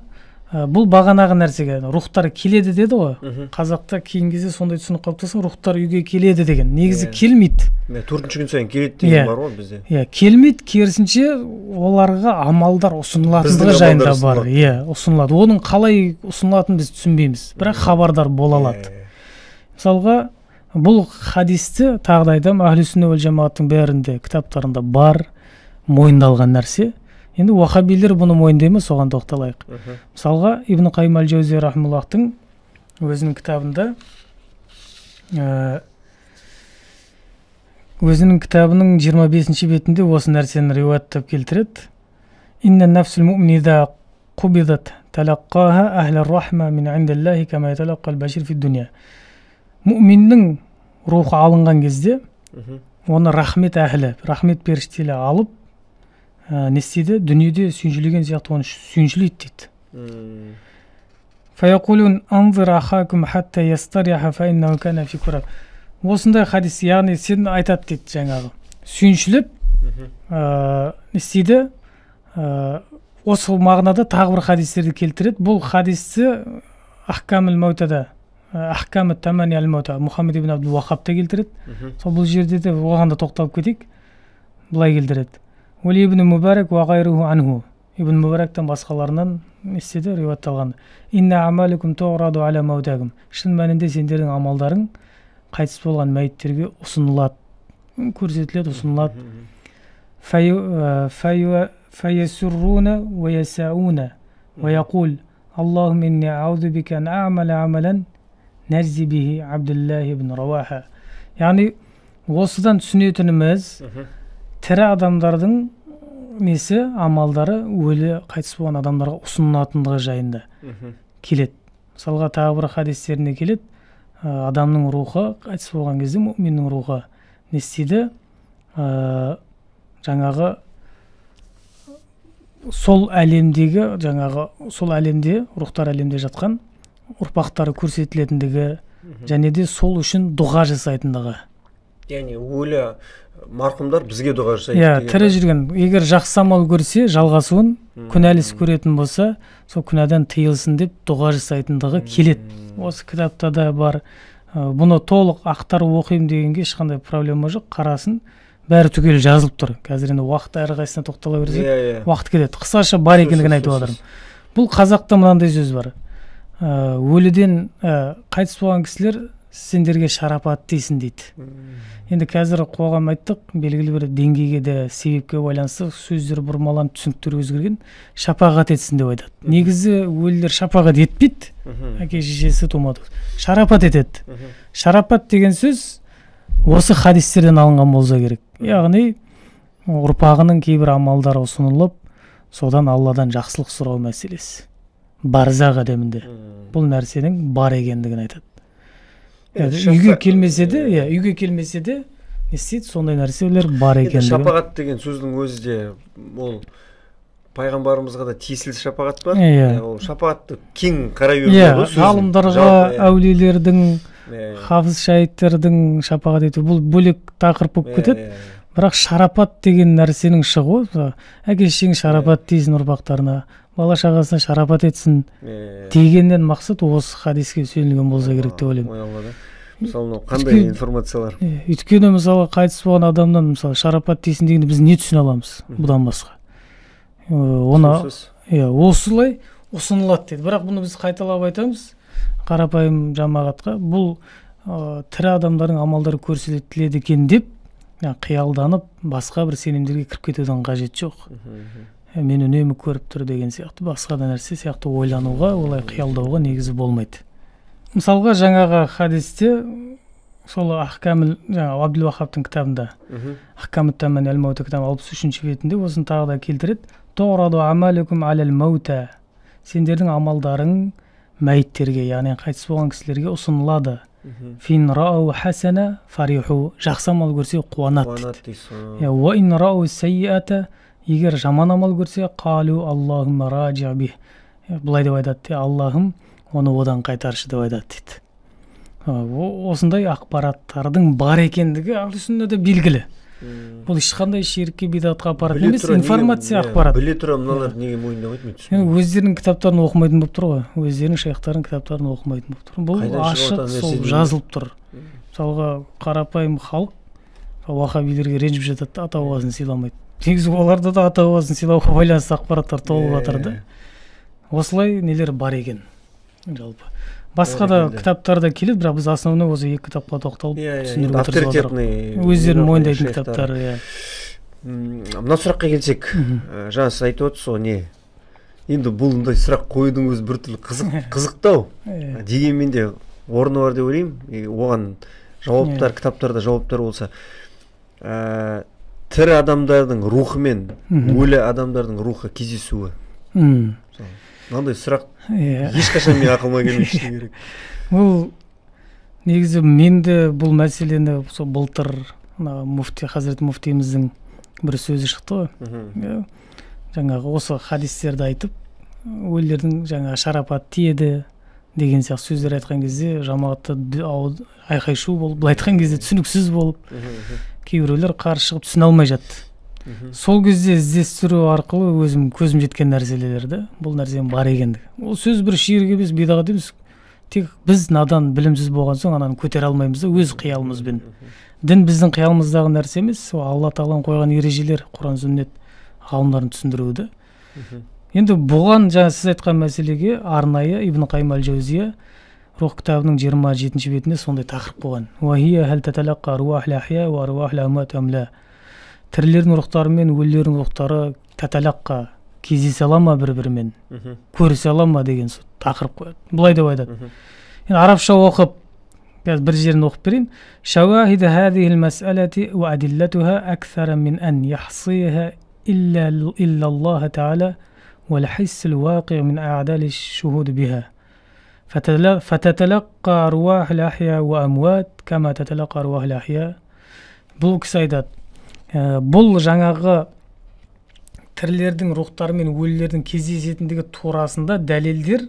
Speaker 2: бұл бағанағы нәрсеге рухтар келеді деді ғой. Қазақта кейін кезде сондай түсінік қалыптасқан, рухтар үйге келеді деген. Негізі келмейді.
Speaker 1: 4-ші күн сайын келеді деген бар ғой бізде.
Speaker 2: Келмейді, керісінше оларға амалдар ұсынылатындығы жайында бар. Ұсынылады. Оның қалай ұсынылатынын біз түсінбейміз, бірақ хабардар бола алады. Мысалға бұл хадисті тағы да айтамын, Ахлі-сүнна уәл жамааттың бәрінде кітаптарында бар, мойындалған нәрсе. Енді уахабилер бұны мойындайды ма, соған тоқталайық. Мысалға Ибн Қайым әл-Жаузия рахмаллахтың өзінің кітабында өзінің кітабының 25-ші бетінде осы нәрсені риуаяттап келтіреді. Инна нафсул муъмида қубидат талаққаха ахлар рахма мин индиллахи кама яталаққал башир фи дуния. Муъминнің рухы алынған кезде оны рахмет әхлі, рахмет періштелі алып не істейді? Дүниеде сүйіншілеген сияқты оны сүйіншілейді дейді. Фаяқулун анзир ахакум хатта ястаряха фа иннаху кана фи кураб. Осындай хадис, яғни сен айтады дейді жаңағы. Сүйіншіліп не істейді? Осы мағынада тағы бір хадистерді келтіреді. Бұл хадисті Ахкамул Маутада, Ахкамут Тамани аль-Маута Мұхаммед ибн Абдул Вахабта келтіреді. Сол бұл жерде де оған да тоқталып кетейік. Былай келтіреді. Ули ибн Мубарак ва гайруху анху. Ибн Мубарактан басқаларынан істеді риуаятталған. Инна амаликум туғраду аля маутагум. Шын мәнінде сендердің амалдарың қайтыс болған мәйіттерге ұсынылады, көрсетіледі, ұсынылады. Фаясурруна ва ясауна ва яқул Аллахум инни аузу бика ан а'мала амалан нәжзи бихи Абдуллах ибн Раваха. Яғни осыдан түсінетініміз тірі адамдардың несі, амалдары өлі қайтыс болған адамдарға ұсынылатындығы жайында келеді. Мысалға тағы бір хадистеріне келеді. Адамның рухы қайтыс болған кезде мұъминнің рухы не істейді? Жаңағы сол әлемде рухтар әлемде жатқан ұрпақтары көрсетілетіндігі және де сол үшін дұға жасайтындығы.
Speaker 1: Яғни өлі марқұмдар бізге дұға жасайды.
Speaker 2: Тірі жүрген, егер жақсы амал көрсе, жалғасуын, күнәліс көретін болса, сол күнәдан тыйылсын деп дұға жасайтындығы келеді. Осы кітапта да бар. Бұны толық ақтарып оқимын дегенге ешқандай проблема жоқ, қарасын. Бәрі түгел жазылып тұр. Қазір енді уақытта әрқайсысына тоқтала берсек, уақыт кетеді. Қысқаша бар екендігін айтып отырмын. Бұл қазақта мынандай сөз бар. Өліден қайтыс болған кісілер сендерге шарапат дейсін дейді. Енді қазір қоғам айттық, белгілі бір деңгейге де себепке байланысты сөздер бұрмаланып, түсініктер өзгерген, шапағат етсін деп айтады. Негізі өлілер шапағат етпейді, әке шешесі тумады. Шарапат етеді. Шарапат деген сөз осы хадистерден алынған болса керек. Яғни ұрпағының кейбір амалдары ұсынылып, содан Алладан жақсылық сұрау мәселесі. Барзақ әлемінде бұл нәрсенің бар екендігін айтады. Үйге келмесе де, не істейді, сондай нәрселер бар екендігін.
Speaker 1: Шапағат деген сөздің өзі де ол пайғамбарымызға да тиесілі шапағат бар. Ол шапағатты кең қарай беруі.
Speaker 2: Ғалымдарға, әулиелердің, хафыз шаһидтердің шапағат ету бұл бөлек тақырып болып кетеді. Бірақ шарапат деген нәрсенің шығуы, әке шешең шарапат дейсін ұрпақтарына, бала шағасына шарапат етсін дегеннен мақсат осы хадиске сүйенілген болса керек деп ойлаймын.
Speaker 1: мысалы қандай информациялар?
Speaker 2: Өйткені мысалы қайтыс болған адамнан мысалы шарапат дейсің дегенде біз не түсіне аламыз бұдан басқа? Оны осылай ұсынылады дейді. Бірақ бұны біз қайталап айтамыз қарапайым жамағатқа. Бұл тірі адамдардың амалдары көрсетіледі екен деп қиялданып басқа бір сенімдерге кіріп кетудің қажеті жоқ. Мен үнемі көріп тұр деген сияқты басқа да нәрсе сияқты ойлануға, олай қиялдауға негізі болмайды. Мысалға жаңағы хадисте сол Ахкамул, жаңағы Абдул Вахабтың кітабында Ахкамут Таман әл-Маута кітабы 63-ші бетінде осыны тағы да келтіреді. Тураду амалукум алал маута. Сендердің амалдарың мәйіттерге, яғни қайтыс болған кісілерге ұсынылады. Фин рау хасана фариху. Жақсы амал көрсе қуанады. Ва ин рау саййата, егер жаман амал көрсе қалу Аллахумма раджи бих. Бұлай деп айтады, Аллахым оны одан қайтаршы деп айтады дейді. Осындай ақпараттардың бар екендігі ахли сүннада белгілі. Бұл ешқандай ширкке бидатқа апаратын емес, информация ақпарат.
Speaker 1: Біле тұра мыналар неге мойындамайды мен?
Speaker 2: Өздерінің кітаптарын оқымайтын болып тұр ғой. Өздерінің шейхтарының кітаптарын оқымайтын болып тұр. Бұл ашық, сол жазылып тұр. Мысалға қарапайым халық уахабилерге ренжіп жатады, ата бабасын сыйламайды. Негізі оларда да ата бабасын сыйлауға байланысты ақпараттар толып жатыр да. Осылай нелер бар екен жалпы. Басқа да кітаптарда келеді, бірақ біз основной осы екі кітапқа тоқталып түсіндіріп отырмыз. Өздерінің мойындайтын кітаптары.
Speaker 1: Мына сұраққа келсек, жаңа сіз айтып отырсыз ғой, не? Енді бұл мұндай сұрақ қойудың өзі біртүрлі қызықтау. Дегенмен де орны бар деп ойлаймын. Оған жауаптар, кітаптарда жауаптар болса, тірі адамдардың рухы мен өлі адамдардың рухы кездесуі. Мынандай сұрақ ешқашан мен ақылыма келмейді керек.
Speaker 2: Бұл негізі менде бұл мәселені былтыр муфти Хазірет муфтиіміздің бір сөзі шықты ғой. Жаңағы осы хадистерді айтып, өлілердің жаңағы шарапат тиеді деген сияқты сөздер айтқан кезде жамағатта айқай-шу болып, бұл айтқан кезде түсініксіз болып, кейбіреулер қарсы шығып түсіне алмай жатты. Сол кезде іздестіру арқылы өзім көзім жеткен нәрселерді, бұл нәрсенің бар екендігі. Ол сөз бір ширк емес, бидағат емес. Тек біз надан, білімсіз болған соң ананы көтере алмаймыз да өз қиялымызбен. Дін біздің қиялымыздағы нәрсе емес, Алла Тағаланың қойған ережелер, Құран сүннет ғалымдарын түсіндіруді. Енді бұған жаңа сіз айтқан мәселеге арнайы Ибн Қайым әл-Жаузия Рух кітабының 27-ші бетінде сондай тақырып қойған. Уахия хал таталаққа руахл ахия ва руахл амуат амла. Тірілердің рухтары мен өлілердің рухтары таталаққа кездесе ала ма бір-бірімен, көрісе ала ма деген тақырып қояды. Бұлай деп айтады. Енді арабша оқып, бір жерін оқып берейін. Шауахида хадихил мас'алати ва адиллатуха аксара мин ан яхсиха илля Аллах та'ала ва лхиссил вақи мин а'дали шухуд биха. Фататалаққа руахл ахия ва амуат кама таталаққа руахл ахия. Бұл кісі айтады. Бұл жаңағы тірілердің рухтары мен өлілердің кездесетіндігі турасында дәлелдер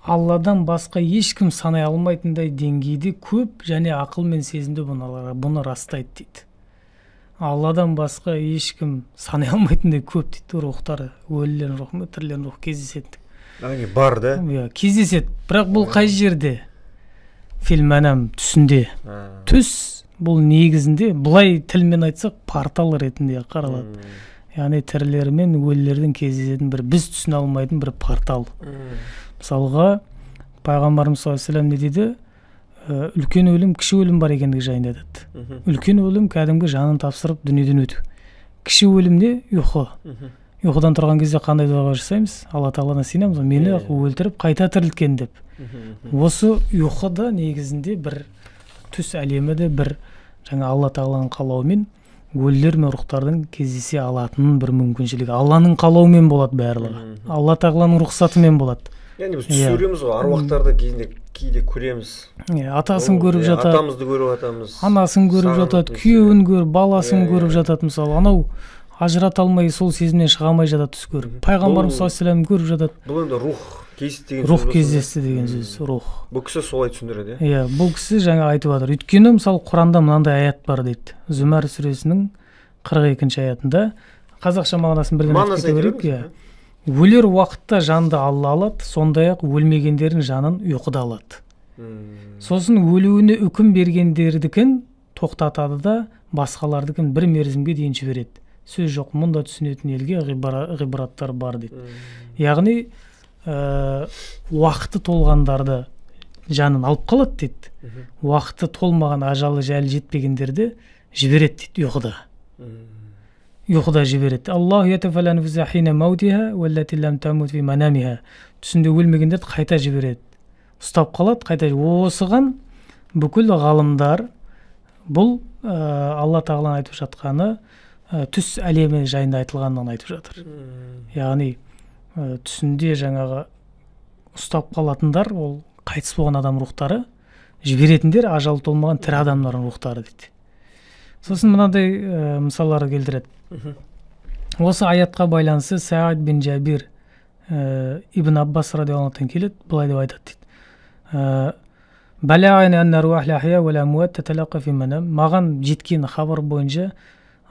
Speaker 2: Алладан басқа ешкім санай алмайтындай деңгейде көп және ақыл мен сезімді бұны растайды дейді. Алладан басқа ешкім санай алмайтындай көп дейді рухтары, өлілердің рухы мен тірілердің рухы кездесетіндігі.
Speaker 1: Бар да?
Speaker 2: Кездеседі, бірақ бұл қай жерде? Фильманам түсінде. Түс бұл негізінде, бұлай тілмен айтсақ, портал ретінде қаралады. Яғни тірілер мен өлілердің кездесетін бір біз түсіне алмайтын бір портал. Мысалға, пайғамбарымыз саллаллаху алейхи ва саллям не дейді? Үлкен өлім, кіші өлім бар екендігі жайында айтады. Үлкен өлім кәдімгі жанын тапсырып дүниеден өту. Кіші өлім не? Ұйқы. Ұйқыдан тұрған кезде қандай дуа жасаймыз? Алла Тағаланы сыйынамыз, мені өлтіріп қайта тірілткен деп. Осы ұйқыда негізінде бір түс әлемі де бір жаңа Алла Тағаланың қалауымен өлілер мен рухтардың кездесе алатынын бір мүмкіншілігі. Алланың қалауымен болады барлығы. Алла Тағаланың рұқсатымен болады.
Speaker 1: Яғни біз түс көреміз ғой, аруақтарды кейде көреміз.
Speaker 2: Атасын көріп жатады.
Speaker 1: Атамызды көріп жатамыз.
Speaker 2: Анасын көріп жатады, күйеуін көріп, баласын көріп жатады мысалы. Анау ажырата алмай сол сезімнен шыға алмай жатады түс көріп. Пайғамбарымыз саллаллаху алейхи ва саллям көріп жатады.
Speaker 1: Бұл енді рух кездесті деген сөз.
Speaker 2: Рух кездесті деген сөз, рух.
Speaker 1: Бұл кісі солай түсіндіреді,
Speaker 2: иә? Бұл кісі жаңа айтып жатыр. Өйткені мысалы Құранда мынандай аят бар дейді. Зүмәр сүресінің 42-ші аятында, қазақша мағынасын бірден айтып кете берейік. Өлер уақытта жанды Алла алады, сондай-ақ өлмегендердің жанын ұйқыда алады. Сосын өлуіне үкім бергендердікін тоқтатады да басқалардыкін бір мерзімге дейін жібереді. Сөз жоқ, мұнда түсінетін елге ғибраттар бар дейді. Яғни уақыты толғандарды жанын алып қалады дейді. Уақыты толмаған, ажалы жайлы жетпегендерді жібереді дейді ұйқыда. Ұйқыда жібереді. Аллаху ятафал анфуса хина маутиха валлати лам тамут фи манамиха. Түсінде өлмегендерді қайта жібереді. Ұстап қалады, қайта. Осыған бүкіл ғалымдар бұл Алла тағаланың айтып жатқаны түс әлемі жайында айтылғанын айтып жатыр. Яғни түсінде жаңағы ұстап қалатындар, ол қайтыс болған адам рухтары, жіберетіндер ажалы толмаған тірі адамдардың рухтары дейді. Сосын мынандай мысалларды келтіреді. Осы аятқа байланысты Саид бин Жабир Ибн Аббас радиаллаху анхудан келеді, былай деп айтады дейді. Маған жеткен хабар бойынша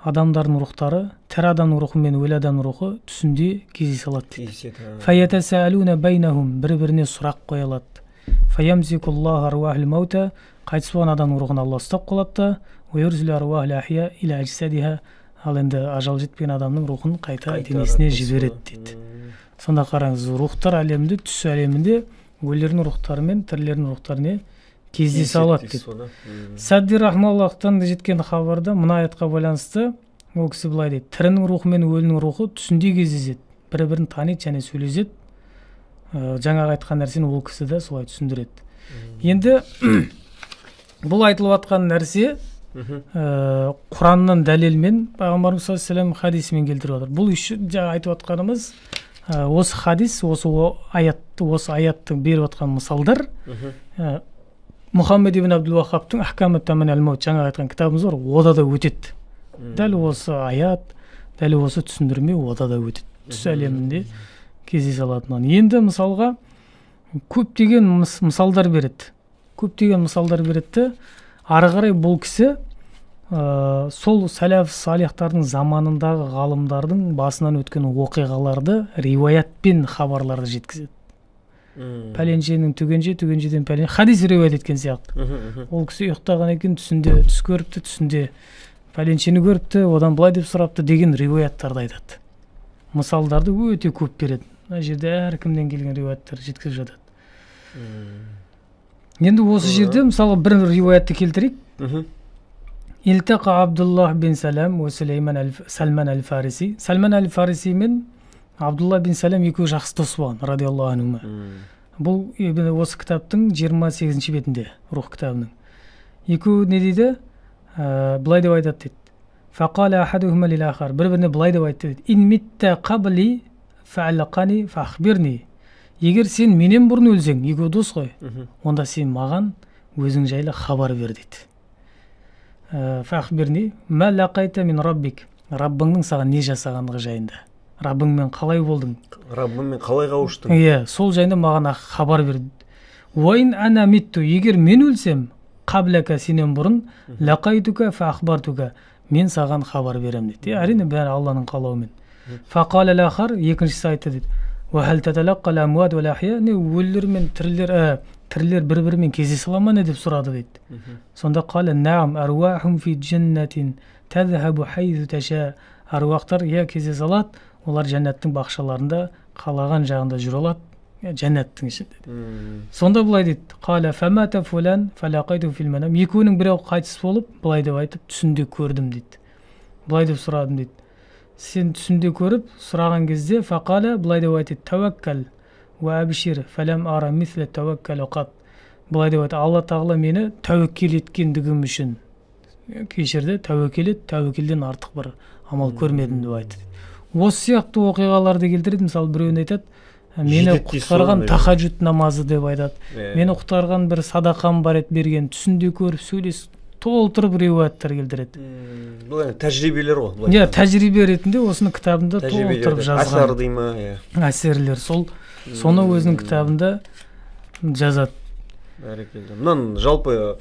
Speaker 2: адамдардың рухтары, тірі адамның рухы мен өлі адамның рухы түсінде кездесе алады дейді. Бір-біріне сұрақ қоя алады. Қайтыс болған адамның рухын Алла ұстап қалады да, ал енді ажал жетпеген адамның рухын қайта денесіне жібереді дейді. Сонда қараңыз, рухтар әлемінде, түс әлемінде өлілердің рухтары мен тірілердің рухтарына кездесе алады дейді. Садди рахмаллахтан жеткен хабарда мына аятқа байланысты ол кісі былай дейді: тірінің рухы мен өлінің рухы түсінде кездеседі, бір-бірін таниды және сөйлеседі. Жаңағы айтқан нәрсені ол кісі де солай түсіндіреді. Енді бұл айтылып жатқан нәрсе Құранның дәлелмен, Пайғамбарымыз саллаллаху алейхи вассалам хадисімен келтіріп отыр. Бұл үшін жаңа айтып жатқанымыз осы хадис, осы аяттың беріп жатқан мысалдар Мұхаммед ибн Абдул Вахабтың Ахкам ат-Таман аль-Маут жаңа айтқан кітабымыз бар, ода да өтеді. Дәл осы аят, дәл осы түсіндірме ода да өтеді. Түс әлемінде кездесе алатынын. Енді мысалға көптеген мысалдар береді. Ары қарай бұл кісі сол сәләф салихтардың заманындағы ғалымдардың басынан өткен оқиғаларды риуаятпен хабарларды жеткізеді. Пәленшенің түгеншеден пәленше хадис риуаят еткен сияқты. Ол кісі ұйықтаған екен, түсінде түс көріпті, түсінде пәленшені көріпті, одан былай деп сұрапты деген риуаяттарды айтады. Мысалдарды өте көп береді. Мына жерде әркімнен келген риуаяттар жеткізіп жатады. Енді осы жерде мысалы бір риуаятты келтірейік. Илтақа Абдуллах бин Салам ва Салман аль-Фариси. Салман аль-Фариси мен Абдулла бин Салам екеуі жақсы дос болған, радиаллаху анхума. Бұл осы кітаптың 28-ші бетінде, рух кітабының. Екеуі не дейді? Былай деп айтады дейді. Фақала ахадухума лил-ахар. Бір-біріне былай деп айтты дейді. Ин митта қабли фа'аллақани фахбирни. Егер сен менен бұрын өлсең, екеуі дос қой, онда сен маған өзің жайлы хабар бер дейді. Фахбирни ма лақайта мин раббик. Раббыңның саған не жасағандығы жайында. Раббыңмен қалай болдың?
Speaker 1: Раббыңмен қалай қауыштың?
Speaker 2: Иә, сол жайында маған хабар бер. Уайн ана митту. Егер мен өлсем, қаблака сенен бұрын, лақайтука фахбартука. Мен саған хабар берем дейді. Әрине бәрі Алланың қалауымен. Фақала лахар, екіншісі айтты дейді. Уахал таталаққал амуат уал ахия. Өлілер мен тірілер бір-бірімен кездесе ала ма не деп сұрады дейді. Сонда қала наам аруахум фи джаннатин тазхабу хайзу таша. Аруақтар кездесе алады, олар жәннаттың бақшаларында қалаған жағында жүре алады, жәннаттың ішінде. Сонда былай дейді: қала фамата фулан фалақайту фил манам. Екеуінің біреу қайтыс болып, былай деп айтып, түсінде көрдім дейді. Былай деп сұрадым дейді. Сен түсінде көріп сұраған кезде фақала былай деп айтты: тәуәккәл уа абшир фалам ара мисле тәуәккәл қат. Былай деп айтты: Алла тағала мені тәуекел еткендігім үшін кешірді, тәуекелден артық бір амал көрмедім деп айтты. Осы сияқты оқиғаларды келтіреді. Мысалы біреуін айтады: мені құтқарған тахаджуд намазы деп айтады. Мені құтқарған бір садақам бар еді берген, түсінде көріп сөйлесіп толтырып риуаяттар келтіреді.
Speaker 1: Бұл тәжірибелер ғой.
Speaker 2: Иә, тәжірибе ретінде осыны кітабында толтырып жазған.
Speaker 1: Әсер дей ма?
Speaker 2: Әсерлер. Соны өзінің кітабында жазады.
Speaker 1: Бәрекелді. Мұнан жалпы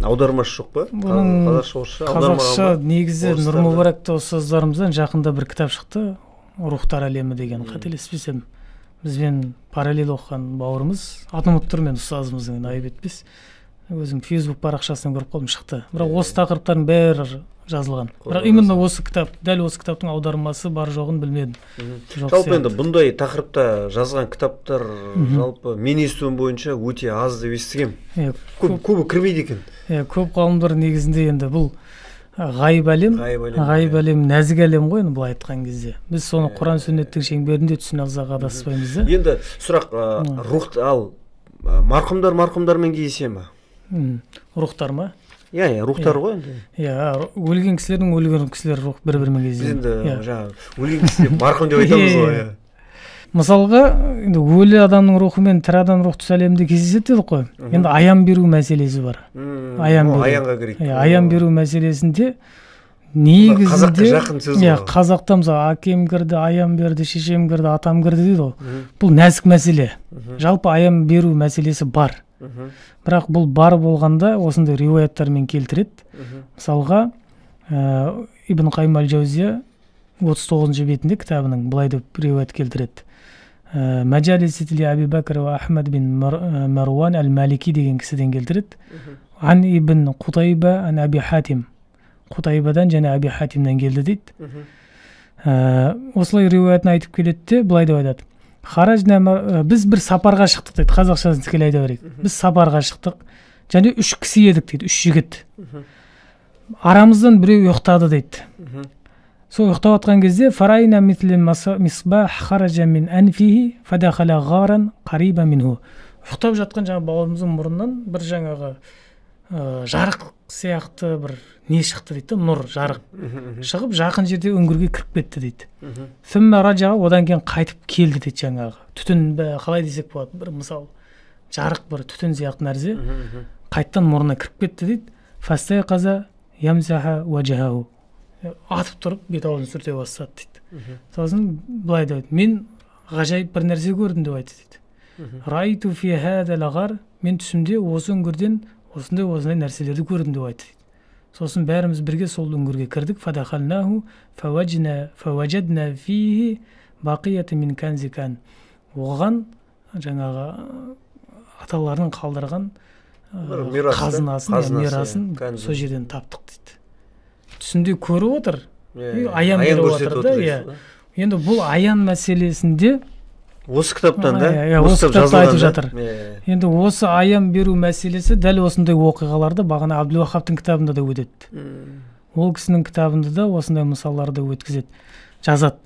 Speaker 1: аудармашы жоқ па?
Speaker 2: Қазақша негізі Нұрмұбаракта ұстаздарымыздан жақында бір кітап шықты, Рухтар әлемі деген, қателеспесем. бізбен параллель оқыған бауырымыз атымұттырмен ұстазымыздың айып етпес, өзім фейсбук парақшасынан көріп қалдым, шықты. Бірақ осы тақырыптардың бәрі жазылған. Бірақ именно осы кітап, дәл осы кітаптың аудармасы бар жоғын білмедім.
Speaker 1: Жалпы енді бұндай тақырыпта жазған кітаптар жалпы мен естуім бойынша өте аз деп естігем. Көбі кірмейді екен.
Speaker 2: Көп ғалымдар негізінде енді бұл ғайып әлем, нәзік әлем ғой, былай айтқан кезде. Біз соны Құран сүннеттің шеңберінде түсіне алсақ адаспаймыз да.
Speaker 1: Енді сұрақ, рух ал марқұмдармен кездесе ме?
Speaker 2: Рухтар ма?
Speaker 1: Рухтар ғой енді.
Speaker 2: Өлген кісілер рух бір-бірімен кездеседі.
Speaker 1: Біз енді жаңағы өлген кісілер марқұм деп айтамыз ғой.
Speaker 2: Мысалға, енді өлі адамның рухы мен тірі адам рух түс әлемінде кездеседі дедік қой. Енді аян беру мәселесі бар.
Speaker 1: Аянға керек.
Speaker 2: Аян беру мәселесінде негізінде
Speaker 1: қазаққа жақын сөз ғой.
Speaker 2: Қазақта мысалы әкем кірді, аян берді, шешем кірді, атам кірді дейді ғой. Бұл нәзік мәселе. Жалпы аян беру мәселесі бар. Бірақ бұл бар болғанда осындай риуаяттармен келтіреді. Мысалға, Ибн Қайым әл-Жаузия 39 бетінде кітабының былай деп риуаят келтіреді. Мәжалисетли Аби Бәкір ва Ахмад бин Маруан әл-Малики деген кісіден келтіреді. Ан Ибн Қутайба ан Аби Хатим. Қутайбадан және Аби Хатимнен келді дейді. Осылай риуаятын айтып келеді де, былай деп айтады. Біз бір сапарға шықтық дейді, қазақшасын тікелей айта берейік. Біз сапарға шықтық, және 3 кісі едік дейді, 3 жігіт. Арамыздан біреу ұйықтады дейді. Сол ұйықтап атқан кезде фарайна мисли мисбах хаража мин анфихи фадахала гаран қариба минху. Ұйықтап жатқан жаңа бауырымыздың мұрнынан бір жаңағы жарық сияқты бір не шықты дейді, нұр, жарық шығып жақын жерде үңгірге кіріп кетті дейді. Сүмма раджа, одан кейін қайтып келді дейді, жаңағы түтін қалай десек болады, бір мысал жарық бір түтін сияқты нәрсе қайттан мұрнына кіріп кетті дейді. Фастай қаза ямзаха уажаху, атып тұрып бет аузын сүрте бастады дейді. Сосын былай дейді, мен ғажайып бір нәрсе көрдім деп айтты дейді. Райту фи хадал ғар, мен түсімде осы үңгірден осындай нәрселерді көрдім деп айтты дейді. Сосын бәріміз бірге сол үңгірге кірдік. Фадахалнаху фаважадна фихи бақияты мин канзикан. Оған жаңағы аталарының қалдырған қазынасын, мирасын сол жерден таптық дейді. Түсінде көріп отыр, аян беріп отыр да. Енді бұл аян мәселесінде
Speaker 1: осы кітаптан да,
Speaker 2: осы кітапта айтып жатыр. Енді осы аян беру мәселесі дәл осындай оқиғаларды бағана Абдул-Вахабтың кітабында да өтеді. Ол кісінің кітабында да осындай мысалдарды өткізеді, жазады.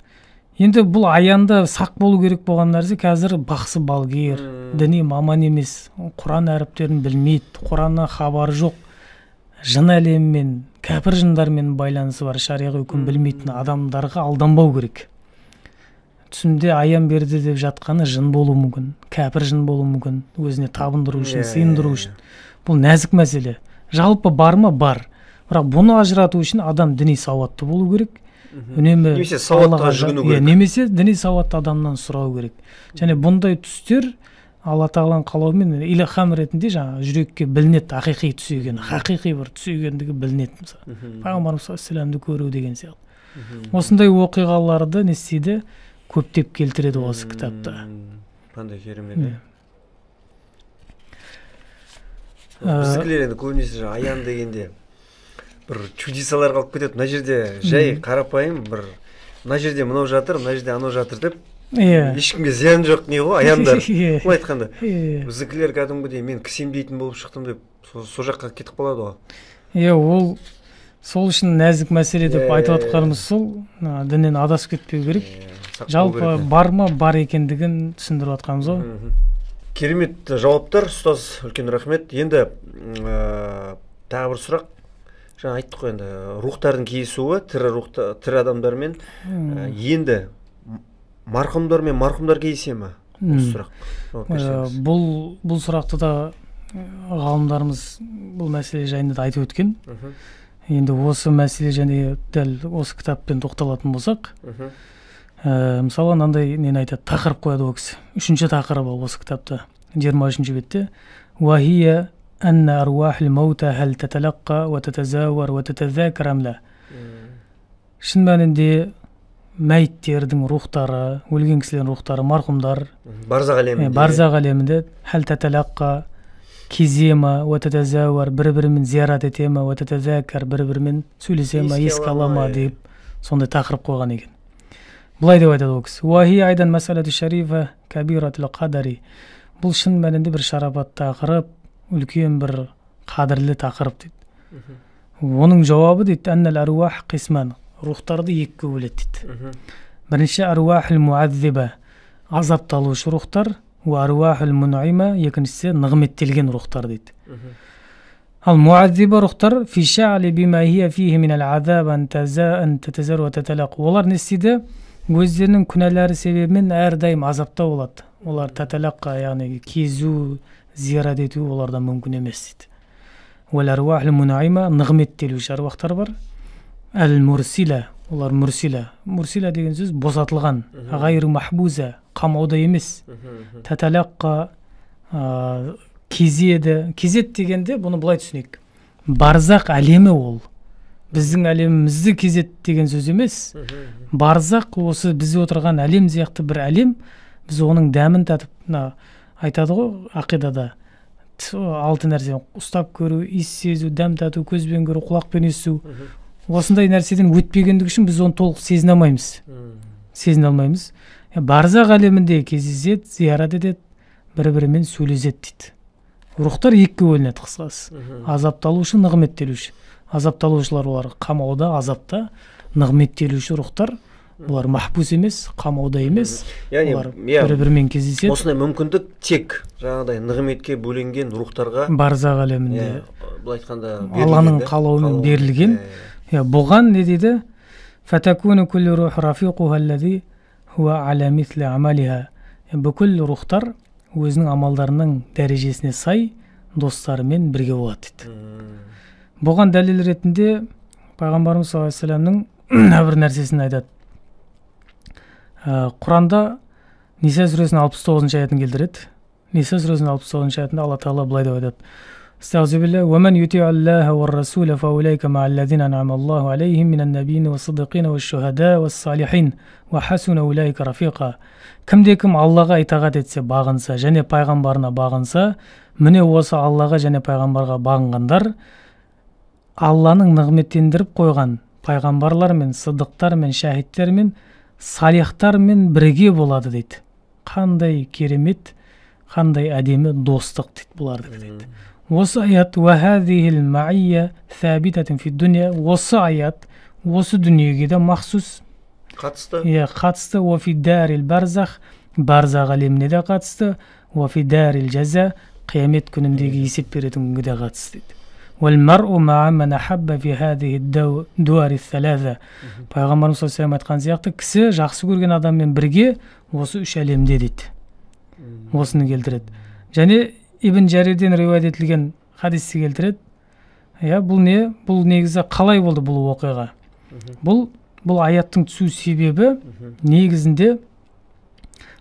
Speaker 2: Енді бұл аянда сақ болу керек болған нәрсе қазір бақсы балгер, діни маман емес, Құран әріптерін білмейді, Құраннан хабары жоқ, жын әлеммен, кәпір жындармен байланысы бар, шариғи үкім білмейтін адамдарға алданбау керек. Түсімде аян берді деп жатқаны жын болуы мүмкін, кәпір жын болуы мүмкін, өзіне табындыру үшін, сыйындыру үшін. Бұл нәзік мәселе. Жалпы бар ма? Бар. Бірақ бұны ажырату үшін адам діни сауатты болу керек.
Speaker 1: Немесе сауатқа жүгіну керек.
Speaker 2: Немесе діни сауатты адамнан сұрау керек. Және бұндай түстер Алла тағаланың қалауымен илхам ретінде жаңа жүрекке білінеді, ақиқи түс екені, хақиқи бір түс екендігі білінеді. Мысалы, Пайғамбарымыз саллаллаху көру деген сияқты. Осындай оқиғаларды не істейді? Көптеп келтіреді осы кітапта.
Speaker 1: Қандай керемет. Біздікілер енді көбінесе аян дегенде бір чудесалар қалып кетеді. Мына жерде жай қарапайым бір, мына жерде мынау жатыр, мына жерде анау жатыр деп, ешкімге зиян жоқ не ғой аяндар. Бұл айтқанда. Біздікілер кәдімгідей мен кісемдейтін болып шықтым деп, сол жаққа кетіп қалады ғой.
Speaker 2: Ол сол үшін нәзік мәселе деп айтып отқанымыз сол, діннен адасып кетпеу керек. Жалпы бар ма, бар екендігін түсіндіріп отқанымыз ғой.
Speaker 1: Керемет жауаптар, ұстаз, үлкен рахмет. Енді тағы бір сұрақ. Жаңа айттық қой, енді рухтардың кездесуі, тірі адамдармен, енді марқұмдармен марқұмдар кездесе ме? Осы сұрақ.
Speaker 2: Бұл сұрақты да ғалымдарымыз бұл мәселе жайында да айтып өткен. Енді осы мәселе және дәл осы кітаппен тоқталатын болсақ, мысалы мынандай нені айтады, тақырып қояды ол кісі. 3-ші тақырыбы осы кітапта, 23-ші бетте. Уахия анна аруахил маута хал таталаққа ва татазауар ва татазакар амла. Шын мәнінде мәйіттердің рухтары, өлген кісілердің рухтары, марқұмдар
Speaker 1: барзақ
Speaker 2: әлемінде хәл таталаққа кезе ма, уәтәтәзәуәр, бір-бірімен зиярат ете ма, уәтәтәзәкәр, бір-бірімен сөйлесе ма, еске ала ма деп сондай тақырып қойған екен. Бұлай деп айтады ол кісі. Уахи айдан мәсәләту шарифа кабиратул қадари. Бұл шын мәнінде бір шарапат тақырып, үлкен бір қадірлі тақырып дейді. Оның жауабы дейді, әннәл әруах қисман. Рухтарды екіге бөледі дейді. Бірінші әруахул муаззиба, азапталушы рухтар, әруахул мунайма, екіншісі нығметтелген рухтар дейді. Ал муаззиба рухтар фи шәғли бима хия фихи минал азаб ан татазар ва таталақ. Олар не істейді? Өздерінің күнәләрі себебімен әрдайым азапта болады. Олар таталаққа, яғни кезу, зиярат ету олардан мүмкін емес дейді. Уәл әруахул мунайма, нығметтелуші әруақтар бар. Әл-мурсила, олар мурсила. Мурсила деген сөз босатылған, ғайру махбуза, қамауда емес. Таталаққа кезеді. Кезет дегенде бұны былай түсінейік. Барзақ әлемі ол. Біздің әлемімізді кезет деген сөз емес. Барзақ осы біз отырған әлем сияқты бір әлем. Біз оның дәмін татып, айтады ғой ақидада. Алты нәрсе ұстап көру, иіс сезу, дәм тату, көзбен көру, құлақпен есту. Осындай нәрседен өтпегендік үшін біз оны толық сезіне алмаймыз. Сезіне алмаймыз. Барзақ әлемінде кездеседі, зиярат етеді, бір-бірімен сөйлеседі дейді. Рухтар екіге бөлінеді қысқасы. Азапталушы, нығметтелуші. Азапталушылар олар қамауда, азапта, нығметтелуші рухтар. Олар махбус емес, қамауда емес. Олар бір-бірімен кездеседі.
Speaker 1: Осындай мүмкіндік тек жаңағыдай нығметке бөленген рухтарға
Speaker 2: барзақ әлемінде
Speaker 1: былай айтқанда
Speaker 2: Алланың қалауымен берілген. Бұған не дейді? Фатакуну куллу рух рафиқуха аллази хуа аля мисли амалиха. Бүкіл рухтар өзінің амалдарының дәрежесіне сай достарымен бірге болады дейді. Бұған дәлел ретінде пайғамбарымыз саллаллаху алейхи вассаламның бір нәрсесін айтады. Құранда Ниса сүресінің 69-шы аятын келтіреді. Ниса сүресінің 69-шы аятында Алла Тағала былай деп айтады. Астағфируллах, "Ва ман юти'у Аллаха ва расула фа улайка ма'аллазина ан'ама Аллаху алейхим минан набiyyin ва сиддиқин ва шухада ва салихин ва хасуна улайка рафиқа." Кімде-кім Аллаға итағат етсе, бағынса, және пайғамбарына бағынса, міне осы Аллаға және пайғамбарға бағынғандар Алланың нығметтендіріп қойған пайғамбарлармен, сыддықтармен, шахидтермен, салихтармен бірге болады дейді. Қандай керемет, қандай әдемі достық дейді бұларды дейді. Осы аят «Вахадихил ма'ия сәбитатын фи дүния». Осы аят осы дүниеге де махсус
Speaker 1: қатысты.
Speaker 2: Қатысты. «Уафи дарил барзах», барзақ әлеміне де қатысты. «Уафи дарил жаза», қиямет күніндегі есеп беретін күнге де қатысты дейді. «Вәл-мар'у ма'a ман ахабба фи хадихи дуари салаза». Пайғамбарымыз саллаллаху алейхи айтқан сияқты, кісі жақсы көрген адаммен бірге осы үш әлемде дейді. Осыны келтіреді. Және Ибн Жарирден риуаят етілген хадисті келтіреді. Бұл не? Бұл негізі қалай болды бұл оқиға? Бұл аяттың түсу себебі негізінде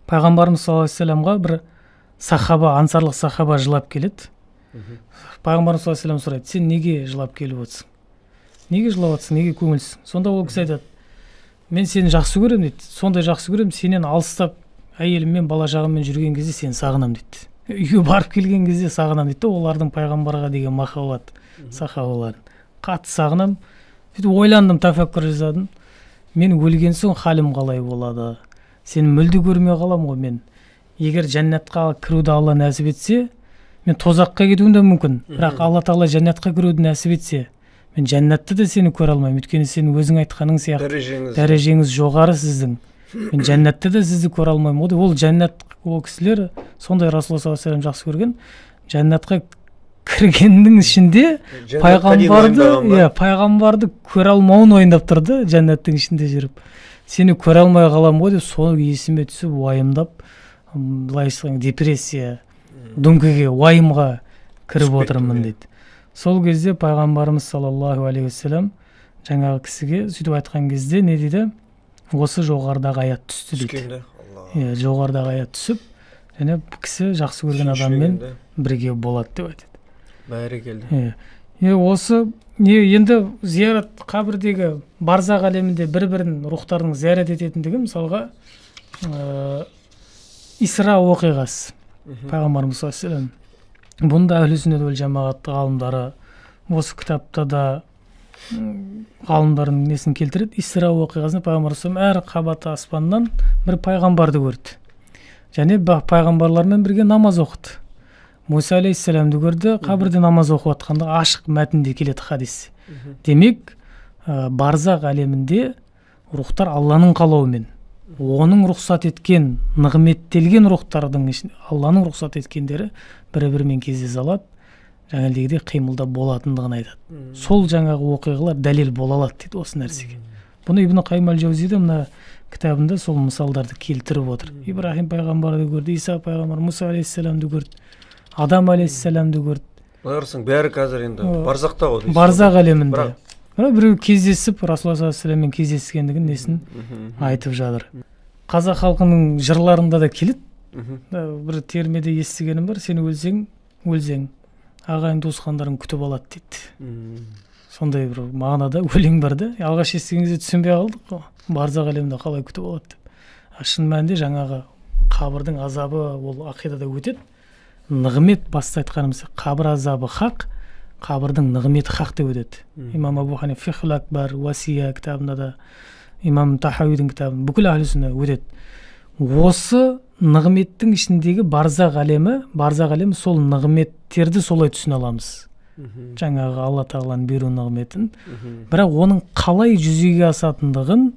Speaker 2: пайғамбарымыз саллаллаху алейхи вассаламға бір сахаба, ансарлық сахаба жылап келеді. Пайғамбарымыз саллаллаху алейхи вассалам сұрайды: "Сен неге жылап келіп отырсың? Неге жылап отырсың? Неге көңілсің?" Сонда ол кісі айтады: "Мен сені жақсы көремін" дейді. "Сондай жақсы көремін, сенен алыстап әйеліммен, бала жағыммен жүрген кезде сені сағынамын" дейді. Үйге барып келген кезде сағынамын дейді. Олардың пайғамбарға деген махаббат сахабаларын қатты сағынамын. Сөйтіп ойландым, тафаккур жасадым. Мен өлген соң халім қалай болады? Сені мүлде көрмей қалам ғой мен. Егер жәннатқа кіруді Алла нәсіп етсе, мен тозаққа кетуім де мүмкін. Бірақ Алла Тағала жәннатқа кіруді нәсіп етсе, мен жәннатты да сені көре алмаймын. Өйткені сен өзің айтқаның сияқты дәрежеңіз жоғары сіздің. Мен жәннатты да сізді көре алмаймын. Ол жәннат, ол кісілер сондай Расулалла саллаллаху алейхи вассалам жақсы көрген. Жәннатқа кіргеннің ішінде пайғамбарды көре алмауын ойындап тұрды, жәннаттың ішінде жүріп. Сені көре алмай қалам ғой деп, соны есіме түсіп, уайымдап, былай айтсаң депрессия, дүңкіге, уайымға кіріп отырмын дейді. Сол кезде пайғамбарымыз саллаллаху алейхи вассалам жаңағы кісіге сөйтіп айтқан кезде не дейді? Осы жоғарыдағы аят түсті дейді. Жоғарыдағы аят түсіп, және кісі жақсы көрген адаммен бірге болады деп айтады.
Speaker 1: Бәрекелді.
Speaker 2: Осы енді зиярат қабірдегі барзақ әлемінде бір-бірін рухтардың зиярат ететіндігі мысалға Исра оқиғасы. Пайғамбарымыз саллаллаху алейхи ва саллям. Бұнда әхлі сүннет уәл жамағат ғалымдары осы кітапта да ғалымдардың несін келтіреді. Исра оқиғасында пайғамбар әр қабаты аспаннан бір пайғамбарды көрді. Және пайғамбарлармен бірге намаз оқыды. Муса алейхиссаламды көрді, қабірде намаз оқып жатқанда ашық мәтінде келеді хадис. Демек, барзақ әлемінде рухтар Алланың қалауымен, оның рұқсат еткен, нығметтелген рухтардың Алланың рұқсат еткендері бір-бірімен кездесе алады, жаңағыдегідей қимылда болатындығын айтады. Сол жаңағы оқиғалар дәлел бола алады дейді осы нәрсеге. Бұны Ибн Қайым әл-Жаузиде мына кітабында сол мысалдарды келтіріп отыр. Ибрахим пайғамбарды көрді, Иса пайғамбар, Муса алейхиссаламды көрді, Адам алейхиссаламды көрді.
Speaker 1: Оларсың бәрі қазір енді барзақта ғой.
Speaker 2: Барзақ әлемінде. Біреу кездесіп, Расулалла саллаллаху алейхи ва салламмен кездескендігін несін айтып жатыр. Қазақ халқының жырларында да келеді. Бір термеде естігенім бар, сен өлсең, ағайын туысқандарың күтіп алады дейді. Сондай бір мағынада өлең бар да. Алғаш естіген кезде түсінбей қалдық қой. Барзақ әлемінде қалай күтіп алады деп. Шын мәнінде жаңағы қабірдің азабы ол ақидада өтеді. Нығмет баста айтқанымыз, қабір азабы хақ, қабірдің нығметі хақ деп өтеді. Имам Абу Ханифа Фихл Акбар, Уасия кітабында да, Имам Тахауидің кітабында бүкіл әхлі сүннат өтеді. Осы нығметтің ішіндегі барзақ әлемі сол нығметтерді солай түсіне аламыз. Жаңағы Алла тағаланың беру нығметін. Бірақ оның қалай жүзеге асатындығын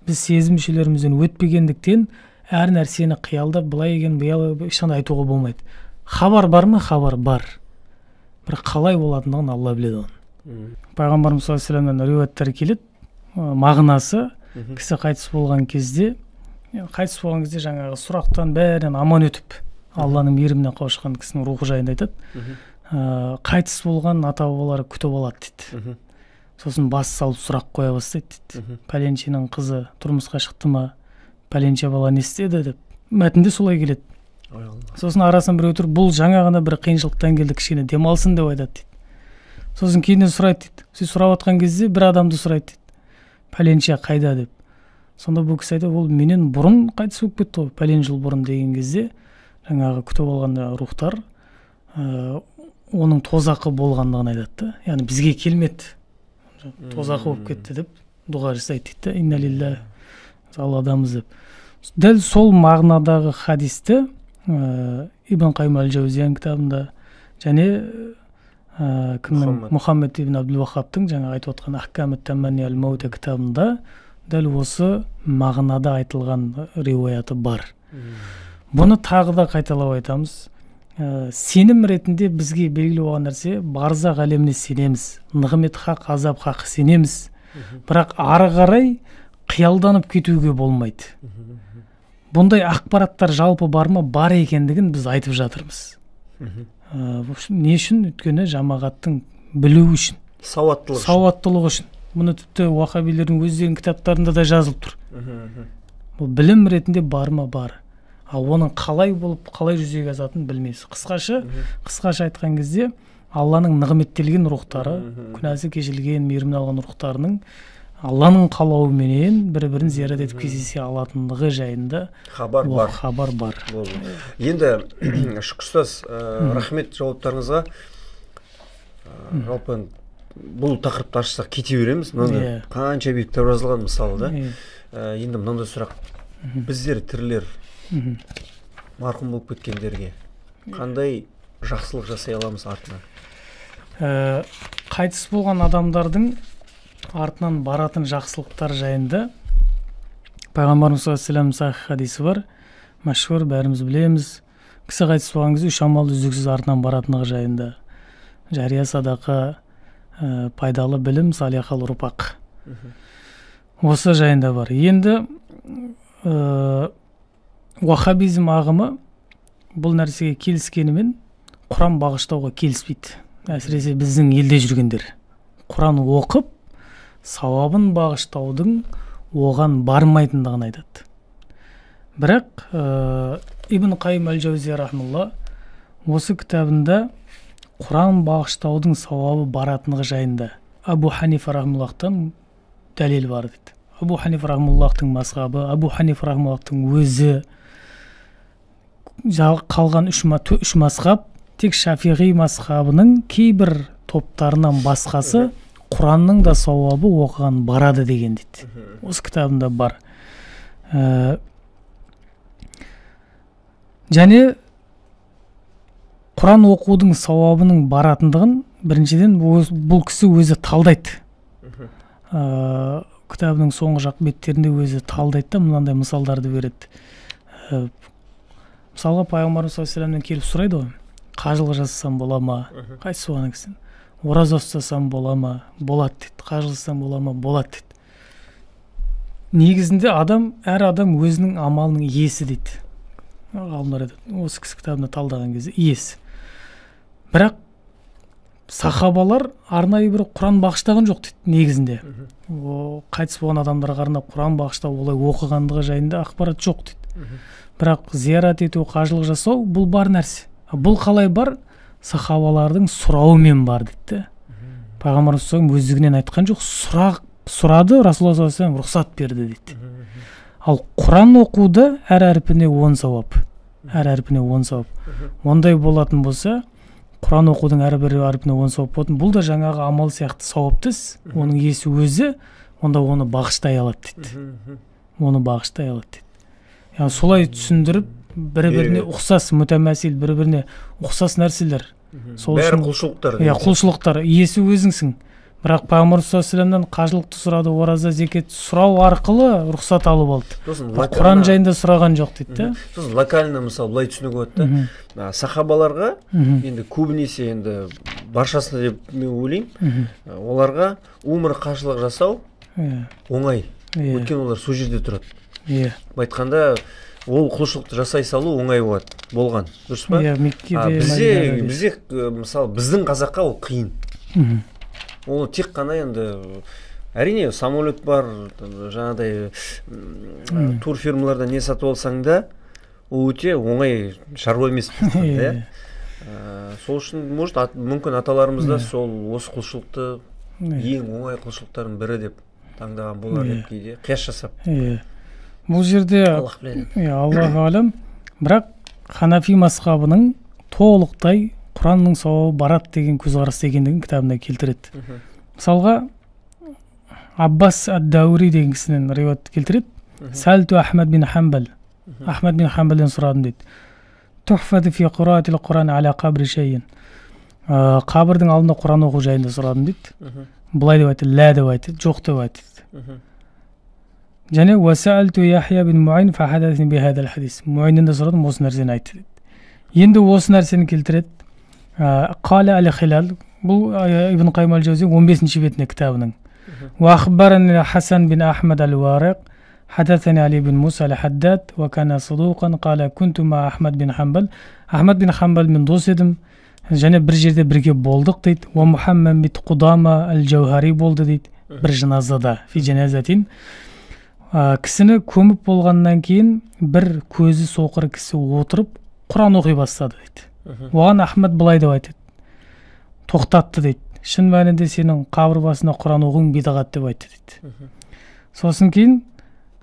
Speaker 2: біз сезім мүшелерімізден өтпегендіктен әр нәрсені қиялдап былай екен ешқандай айтуға болмайды. Хабар бар ма? Хабар бар. Бірақ қалай болатындығын Алла біледі оны. Пайғамбарымыз саллаллаху алейхи ва салламнан риуаяттар келеді. Мағынасы кісі қайтыс болған кезде жаңағы сұрақтан бәрінен аман өтіп Алланың мейіріміне қауышқан кісінің рухы жайында айтады. Қайтыс болған ата-бабалары күтіп алады дейді. Сосын бас салып сұрақ қоя бастайды дейді. Пәленшенің қызы тұрмысқа шықты ма? Пәленше бала не істеді деп. Мәтінде солай келеді. Сосын арасын бір өтір, бұл жаңа ғана бір қиыншылықтан келді, кішкене демалсын деп айтады дейді. Сосын кейіннен сұрайды дейді. Сіз сұрап отқан кезде бір адамды сұрайды дейді. Пәленше қайда деп. Сонда бұл кісі айтады, ол менен бұрын қайтыс болып кетті ғой, пәлен жыл бұрын деген кезде жаңағы күтіп алған рухтар оның тозақы болғандығын айтады. Яғни бізге келмеді, тозақы болып кетті деп дұға жасайды дейді. Инна лиллахи Алладамыз деп. Дәл сол мағынадағы хадисті Ибн Қайым әл-Жаузияның кітабында және Мұхаммед ибн Абдул-Ваххабтың жаңа айтып отқан Ахкамут Таманни аль-Маута кітабында дәл осы мағынада айтылған риуаяты бар. Бұны тағы да қайталап айтамыз. Сенім ретінде бізге белгілі болған нәрсе, барзақ әлеміне сенеміз, нығмет хақ, азап хақ сенеміз. Бірақ ары қарай қиялданып кетуге болмайды. Бұндай ақпараттар жалпы бар ма? Бар екендігін біз айтып жатырмыз. Не үшін? Өйткені жамағаттың білу үшін, сауаттылық үшін. Бұны тіпті уахабилердің өздерінің кітаптарында да жазылып тұр. Бұл білім ретінде бар ма? Бар. Оның қалай болып, қалай жүзеге асатынын білмейсіз. Қысқаша айтқан кезде Алланың нығметтелген рухтары, күнәсі кешірілген, мейірімін алған рухтарының Алланың қалауыменен бір-бірін зиярат етіп кездесе алатындығы жайында хабар бар.
Speaker 1: Енді Шүкір ұстаз, рахмет жауаптарыңызға. Жалпы бұл тақырыпты ашсақ кете береміз. Қанша биік кітап жазылған мысалы да. Енді мынандай сұрақ. Біздер тірілер марқұм болып кеткендерге қандай жақсылық жасай аламыз артынан?
Speaker 2: Қайтыс болған адамдардың артынан баратын жақсылықтар жайында Пайғамбарымыз саллаллаху алейхи ва саллям сахих хадисі бар. Мәшһүр, бәріміз білеміз. Кісі қайтыс болған кезде 3 амал үздіксіз артынан баратындығы жайында. Жария садақа, пайдалы білім, салихал ұрпақ. Осы жайында бар. Енді уахабизм ағымы бұл нәрсеге келіскенімен Құран бағыштауға келіспейді. Әсіресе біздің елде жүргендер. Құран оқып, сауабын бағыштаудың оған бармайтындығын айтады. Бірақ Ибн Қайым әл-Жаузия рахмалла осы кітабында Құран бағыштаудың сауабы баратындығы жайында Абу Ханифа рахмаллахтан дәлел бар дейді. Абу Ханифа рахмаллахтың мазхабы, Абу Ханифа рахмаллахтың өзі, қалған үш мазхаб тек Шафиғи мазхабының кейбір топтарынан басқасы Құранның да сауабы оқыған барады деген дейді. Осы кітабында бар. Және Құран оқудың сауабының баратындығын біріншіден бұл кісі өзі талдайды. Кітабының соңғы жақ беттерінде өзі талдайды да мынандай мысалдарды береді. Мысалға пайғамбарымыз саллаллаху алейхи вассаламнан келіп сұрайды ғой, қажылық жасасам бола ма? Қайсы соған кісін? Ораза ұстасам бола ма? Болады дейді. Қажылық жасасам бола ма? Болады дейді. Негізінде әр адам өзінің амалының иесі дейді. Ғалымдар айтады, осы кісі кітабында талдаған кезде иесі. Бірақ сахабалар арнайы бір Құран бағыштаған жоқ дейді негізінде. Қайтыс болған адамдарға арнап Құран бағыштау, олай оқығандығы жайында ақпарат жоқ дейді. Бірақ зиярат ету, қажылық жасау бұл бар нәрсе. Бұл қалай бар? Сахабалардың сұрауымен бар дейді. Пайғамбарымыз өздігінен айтқан жоқ, сұрады, Расулаллах саллаллаху алейхи вассалам рұқсат берді дейді. Ал Құран оқуды әр әрпіне 10 сауап. Әр әрпіне 10 сауап. Ондай болатын болса, Құран оқудың әрбір әрпіне 10 сауап болатын. Бұл да жаңағы амал сияқты сауаптыс. Оның иесі өзі, онда оны бағыштай алады дейді. Оны бағыштай алады дейді. Яғни солай түсіндіріп, бір-біріне ұқсас, мүтәмәсил, бір-біріне ұқсас нәрселер.
Speaker 1: Бәрі құлшылықтар.
Speaker 2: Құлшылықтар. Иесі өзіңсің. Бірақ Пайғамбар саллаллаху алейхи вассаламнан қажылықты сұрады, ораза, зекет сұрау арқылы рұқсат алып алды. Құран жайында сұраған жоқ дейді.
Speaker 1: Сосын локально мысалы былай түсінуге болады да. Сахабаларға енді көбінесе енді баршасына деп мен ойлаймын, оларға умра қажылық жасау оңай. Өйткені олар сол жерде тұрады. Айтқанда ол құлшылықты жасай салу оңай болған. Дұрыс па? Бізде мысалы біздің қазаққа ол қиын. Ол тек қана енді әрине самолет бар, жаңағыдай турфирмаларда не сатып алсаң да, ол өте оңай шаруа емес. Сол үшін мүмкін аталарымыз да сол осы құлшылықты ең оңай құлшылықтардың бірі деп таңдаған болар деп кейде қияс жасап.
Speaker 2: Бұл жерде Аллах алам, бірақ Ханафи мазхабының толықтай Құранның сауабы барат деген көзқарас екендігін кітабында келтіреді. Мысалға Аббас ад-Даури деген кісінен риуаят келтіреді. Сәлту Ахмад бин Хамбал. Ахмад бин Хамбалдан сұрадым дейді. Тухфаты фи қираатил Құран аля қабри шейін. Қабірдің алдында Құран оқу жайында сұрадым дейді. Бұлай деп айтты, лә деп айтты, жоқ деп айтты. Және уасәлту Яхия бин Муайн фахадасни бихадал хадис. Муайннен де сұрадым, осы нәрсені айтты дейді. Енді осы нәрсені келтіреді. Қала әл-Хилал, бұл Ибн Қайым әл-Жаузи 15-ші бетіне кітабының. Ва ахбарани Хасан бин Ахмад әл-Вариқ, хадасани Али бин Муса әл-Хаддад, ва кана садуқан, қала күнту ма Ахмад бин Хамбал. Ахмад бин Хамбалмен дос едім, және бір жерде бірге болдық дейді. Ва Мухаммад бин Қудама әл-Жауһари болды дейді, бір жаназада, фи жаназатин. Кісіні көміп болғаннан кейін бір көзі соқыр кісі отырып Құран оқи бастады дейді. Оған Ахмад былай деп айтады, тоқтатты дейді. Шын мәнінде сенің қабір басына Құран оқуың бидағат деп айтты дейді. Сосын кейін,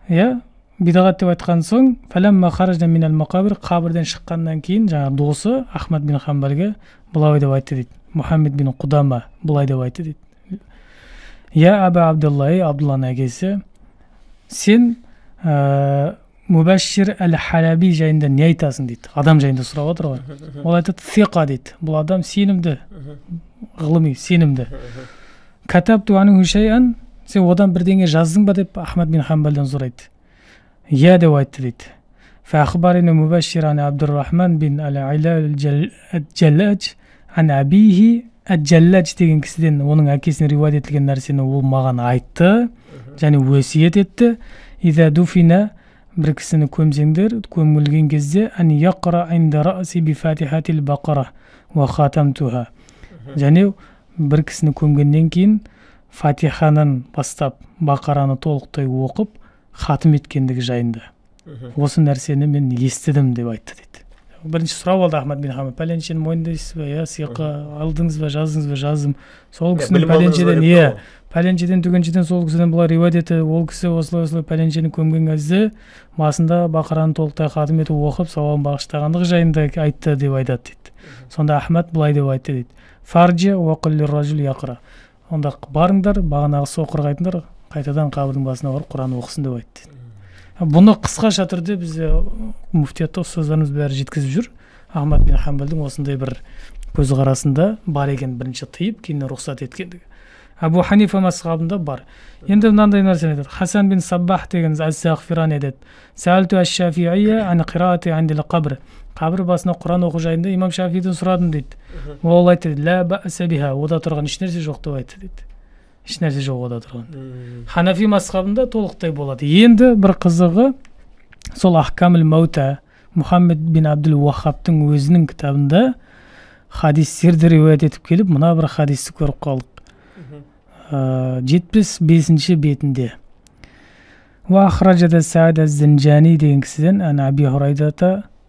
Speaker 2: бидағат деп айтқан соң, фәләммә харажна минал мақабир, қабірден шыққаннан кейін жаңағы досы Ахмад бин Хамбалге былай деп айтты дейді. Мухаммед бин Қудама былай деп айтты дейді. Я Аба Абдуллахи, Абдулланың әкесі, сен Мубашир әл-Халаби жайында не айтасың дейді. Адам жайында сұрап отыр ғой. Ол айтады, сиқа дейді. Бұл адам сенімді, ғылыми, сенімді. Катабту анху шайъан, сен одан бірдеңе жаздың ба деп Ахмад бин Хамбалдан сұрайды. Я деп айтты дейді. Фахбарина Мубашир ан Абдуррахман бин әл-Айла әл-Джаллач ан абихи әл-Джаллач деген кісіден оның әкесіне риуаят етілген нәрсені ол маған айтты, және өсиет етті. Иза дуфина, бір кісіні көмсеңдер, көмілген кезде ән яқра инда раси би фатихатил бақара ва хатамтуха. Және бір кісіні көмгеннен кейін фатиханын бастап бақараны толықтай оқып хатым еткендігі жайында. Осы нәрсені мен естідім деп айтты дейді. бірінші сұрап алды Ахмад бин Хамбал, пәленшені мойындайсыз ба, иә, сыйаққа алдыңыз ба, жаздыңыз ба, жаздым. Сол кісінің пәленшеден түгеншеден сол кісіден бұлар риуаят етті, ол кісі осылай пәленшені көмген кезде басында Бақараны толықтай хатым етіп оқып, сауабын бағыштағандығы жайында айтты деп айтады дейді. Сонда Ахмад бұлай деп айтты дейді. Фарджи уақыл лир-ражул яқра. Онда барыңдар, бағанағы соқырға айтыңдар, қайтадан қабірдің басына барып Құран оқысын деп айтты. Бұны қысқаша түрде бізде муфтиятта ұстаздарымыз бәрі жеткізіп жүр. Ахмад бин Хамбалдың осындай бір көзқарасында бар екен, бірінші тыйып, кейін рұқсат еткендігі. Абу Ханифа мазхабында бар. Енді мынандай нәрсені айтады. Хасан бин Саббах деген Ас-Сағфирани айтады. Сәлту аш-Шафи'ия ан қираати андил қабр. Қабір басына Құран оқу жайында имам Шафиден сұрадым дейді. Ол айтты, ла бәса биха, ода тұрған еш нәрсе жоқ деп айтты дейді. Еш нәрсе жоқ ода тұрған. Ханафи мазхабында толықтай болады. Енді бір қызығы, сол Ахкамул Маута Мұхаммед бин Абдул Уахабтың өзінің кітабында хадистерді риуаят етіп келіп, мына бір хадисті көріп қалдық. 75 бетінде. Ва ахраджада Саад аз-Зинжани деген кісіден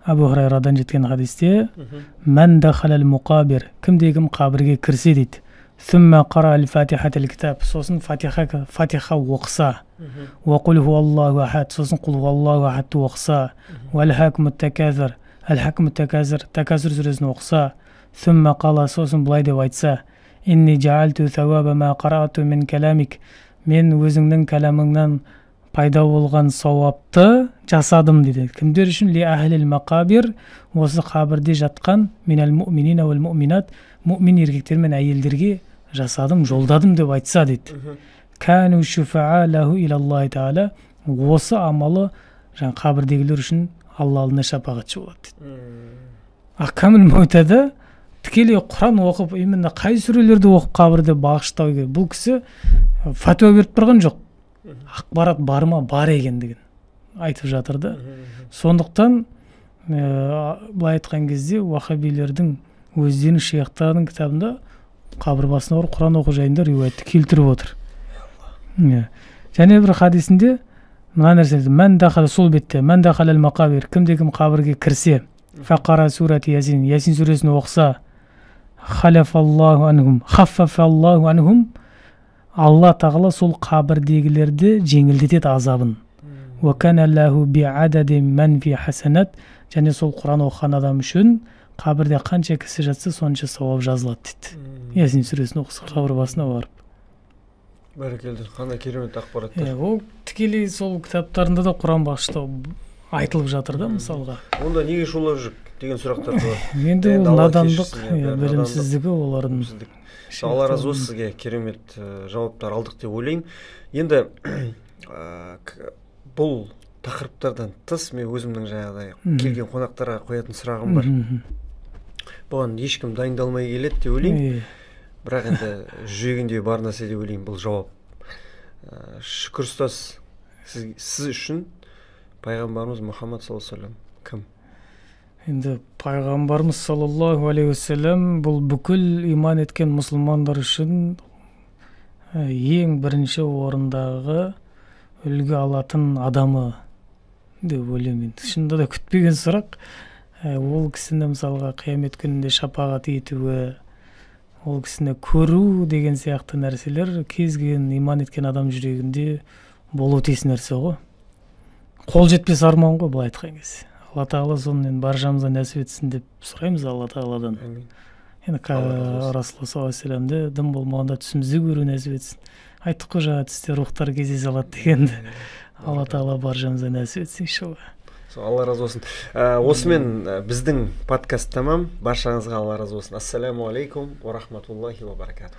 Speaker 2: Абу Хурайрадан жеткен хадисте, «Мән дахалал муқабир», кімде-кім қабірге кірсе дейді. «Сумма қара ал-фатихатил китаб», сосын фатиха оқыса. «Ва қул хуаллаху ахад», сосын қул хуаллаху ахадты оқыса. «Вал-хакмут таказир», «Ал-хакмут таказир», таказир сүресін оқыса. «Сумма қала», сосын бұлай деп айтса. «Инни жаалту сауаба ма қараату min каламик», мен өзіңнің кәламыңнан пайда болған сауапты жасадым дейді. Кімдер үшін? Ли ахлил мақабир, осы қабірде жатқан минал муъминина вал муъминат, муъмин еркектер мен әйелдерге жасадым, жолдадым деп айтса дейді. Кану шуфаа лаху илаллахи таала, осы амалы жаңа қабірдегілер үшін Алла алдында шапағатшы болады дейді. Ахкамул Маутада тікелей Құран оқып, именно қай сүрелерді оқып қабірде бағыштау керек. Бұл кісі фатуа беріп тұрған жоқ. Ақпарат бар ма? Бар екендігін айтып жатыр да. Сондықтан былай айтқан кезде уахабилердің өздерінің шейхтарының кітабында қабір басына барып Құран оқу жайында риуаятты келтіріп отыр. Және бір хадисінде мына нәрсе айтады. Мән дахал, сол бетте, мән дахал ал-мақабир, кімде-кім қабірге кірсе, фақара сурати Ясин, Ясин сүресін оқыса, хаффафаллаху анхум, Алла тағала сол қабірдегілерді жеңілдетеді азабын. Ва кана лаху би'адади ман фи хасанат, және сол Құран оқыған адам үшін қабірде қанша кісі жатса сонша сауап жазылады дейді. Ясин сүресін оқыса қабір басына барып.
Speaker 1: Бәрекелді, қандай керемет ақпараттар.
Speaker 2: Ол тікелей сол кітаптарында да Құран бағыштау айтылып жатыр да, мысалға.
Speaker 1: Онда неге шулап жүр деген сұрақтар бар.
Speaker 2: Енді ол надандық, білімсіздігі олардың.
Speaker 1: Алла разы болсын, сізге керемет жауаптар алдық деп ойлаймын. Енді бұл тақырыптардан тыс мен өзімнің жаңағыдай келген қонақтарға қоятын сұрағым бар. Бұған ешкім дайындалмай келеді деп ойлаймын. Бірақ енді жүрегінде бар нәрсе деп ойлаймын бұл жауап. Шүкір ұстаз, сіз үшін пайғамбарымыз Мұхаммад саллаллаху алейхи вассалам кім?
Speaker 2: Енді пайғамбарымыз саллаллаху алейхи вассалам бұл бүкіл иман еткен мұсылмандар үшін ең бірінші орындағы үлгі алатын адамы деп ойлаймын. Шынында да күтпеген сұрақ. Ол кісіні мысалға қиямет күнінде шапағат етуі, ол кісіні көру деген сияқты нәрселер кез келген иман еткен адам жүрегінде болу тиіс нәрсе ғой. Қол жетпес арман ғой былай айтқан кезде. Алла тағала соны баршамызға нәсіп етсін деп сұраймыз Алла тағаладан. Енді Расулуллах саллаллаху алейхи вассаламды дым болмағанда түсімізді көру нәсіп етсін. Айттық қой жаңа түсте рухтар кездесе алады дегенді. Алла тағала баршамызға нәсіп етсін иншалла.
Speaker 1: Алла разы болсын. Осымен біздің подкаст тамам. Баршаңызға Алла разы болсын. Ассаламу алейкум ва рахматуллахи ва баракатух.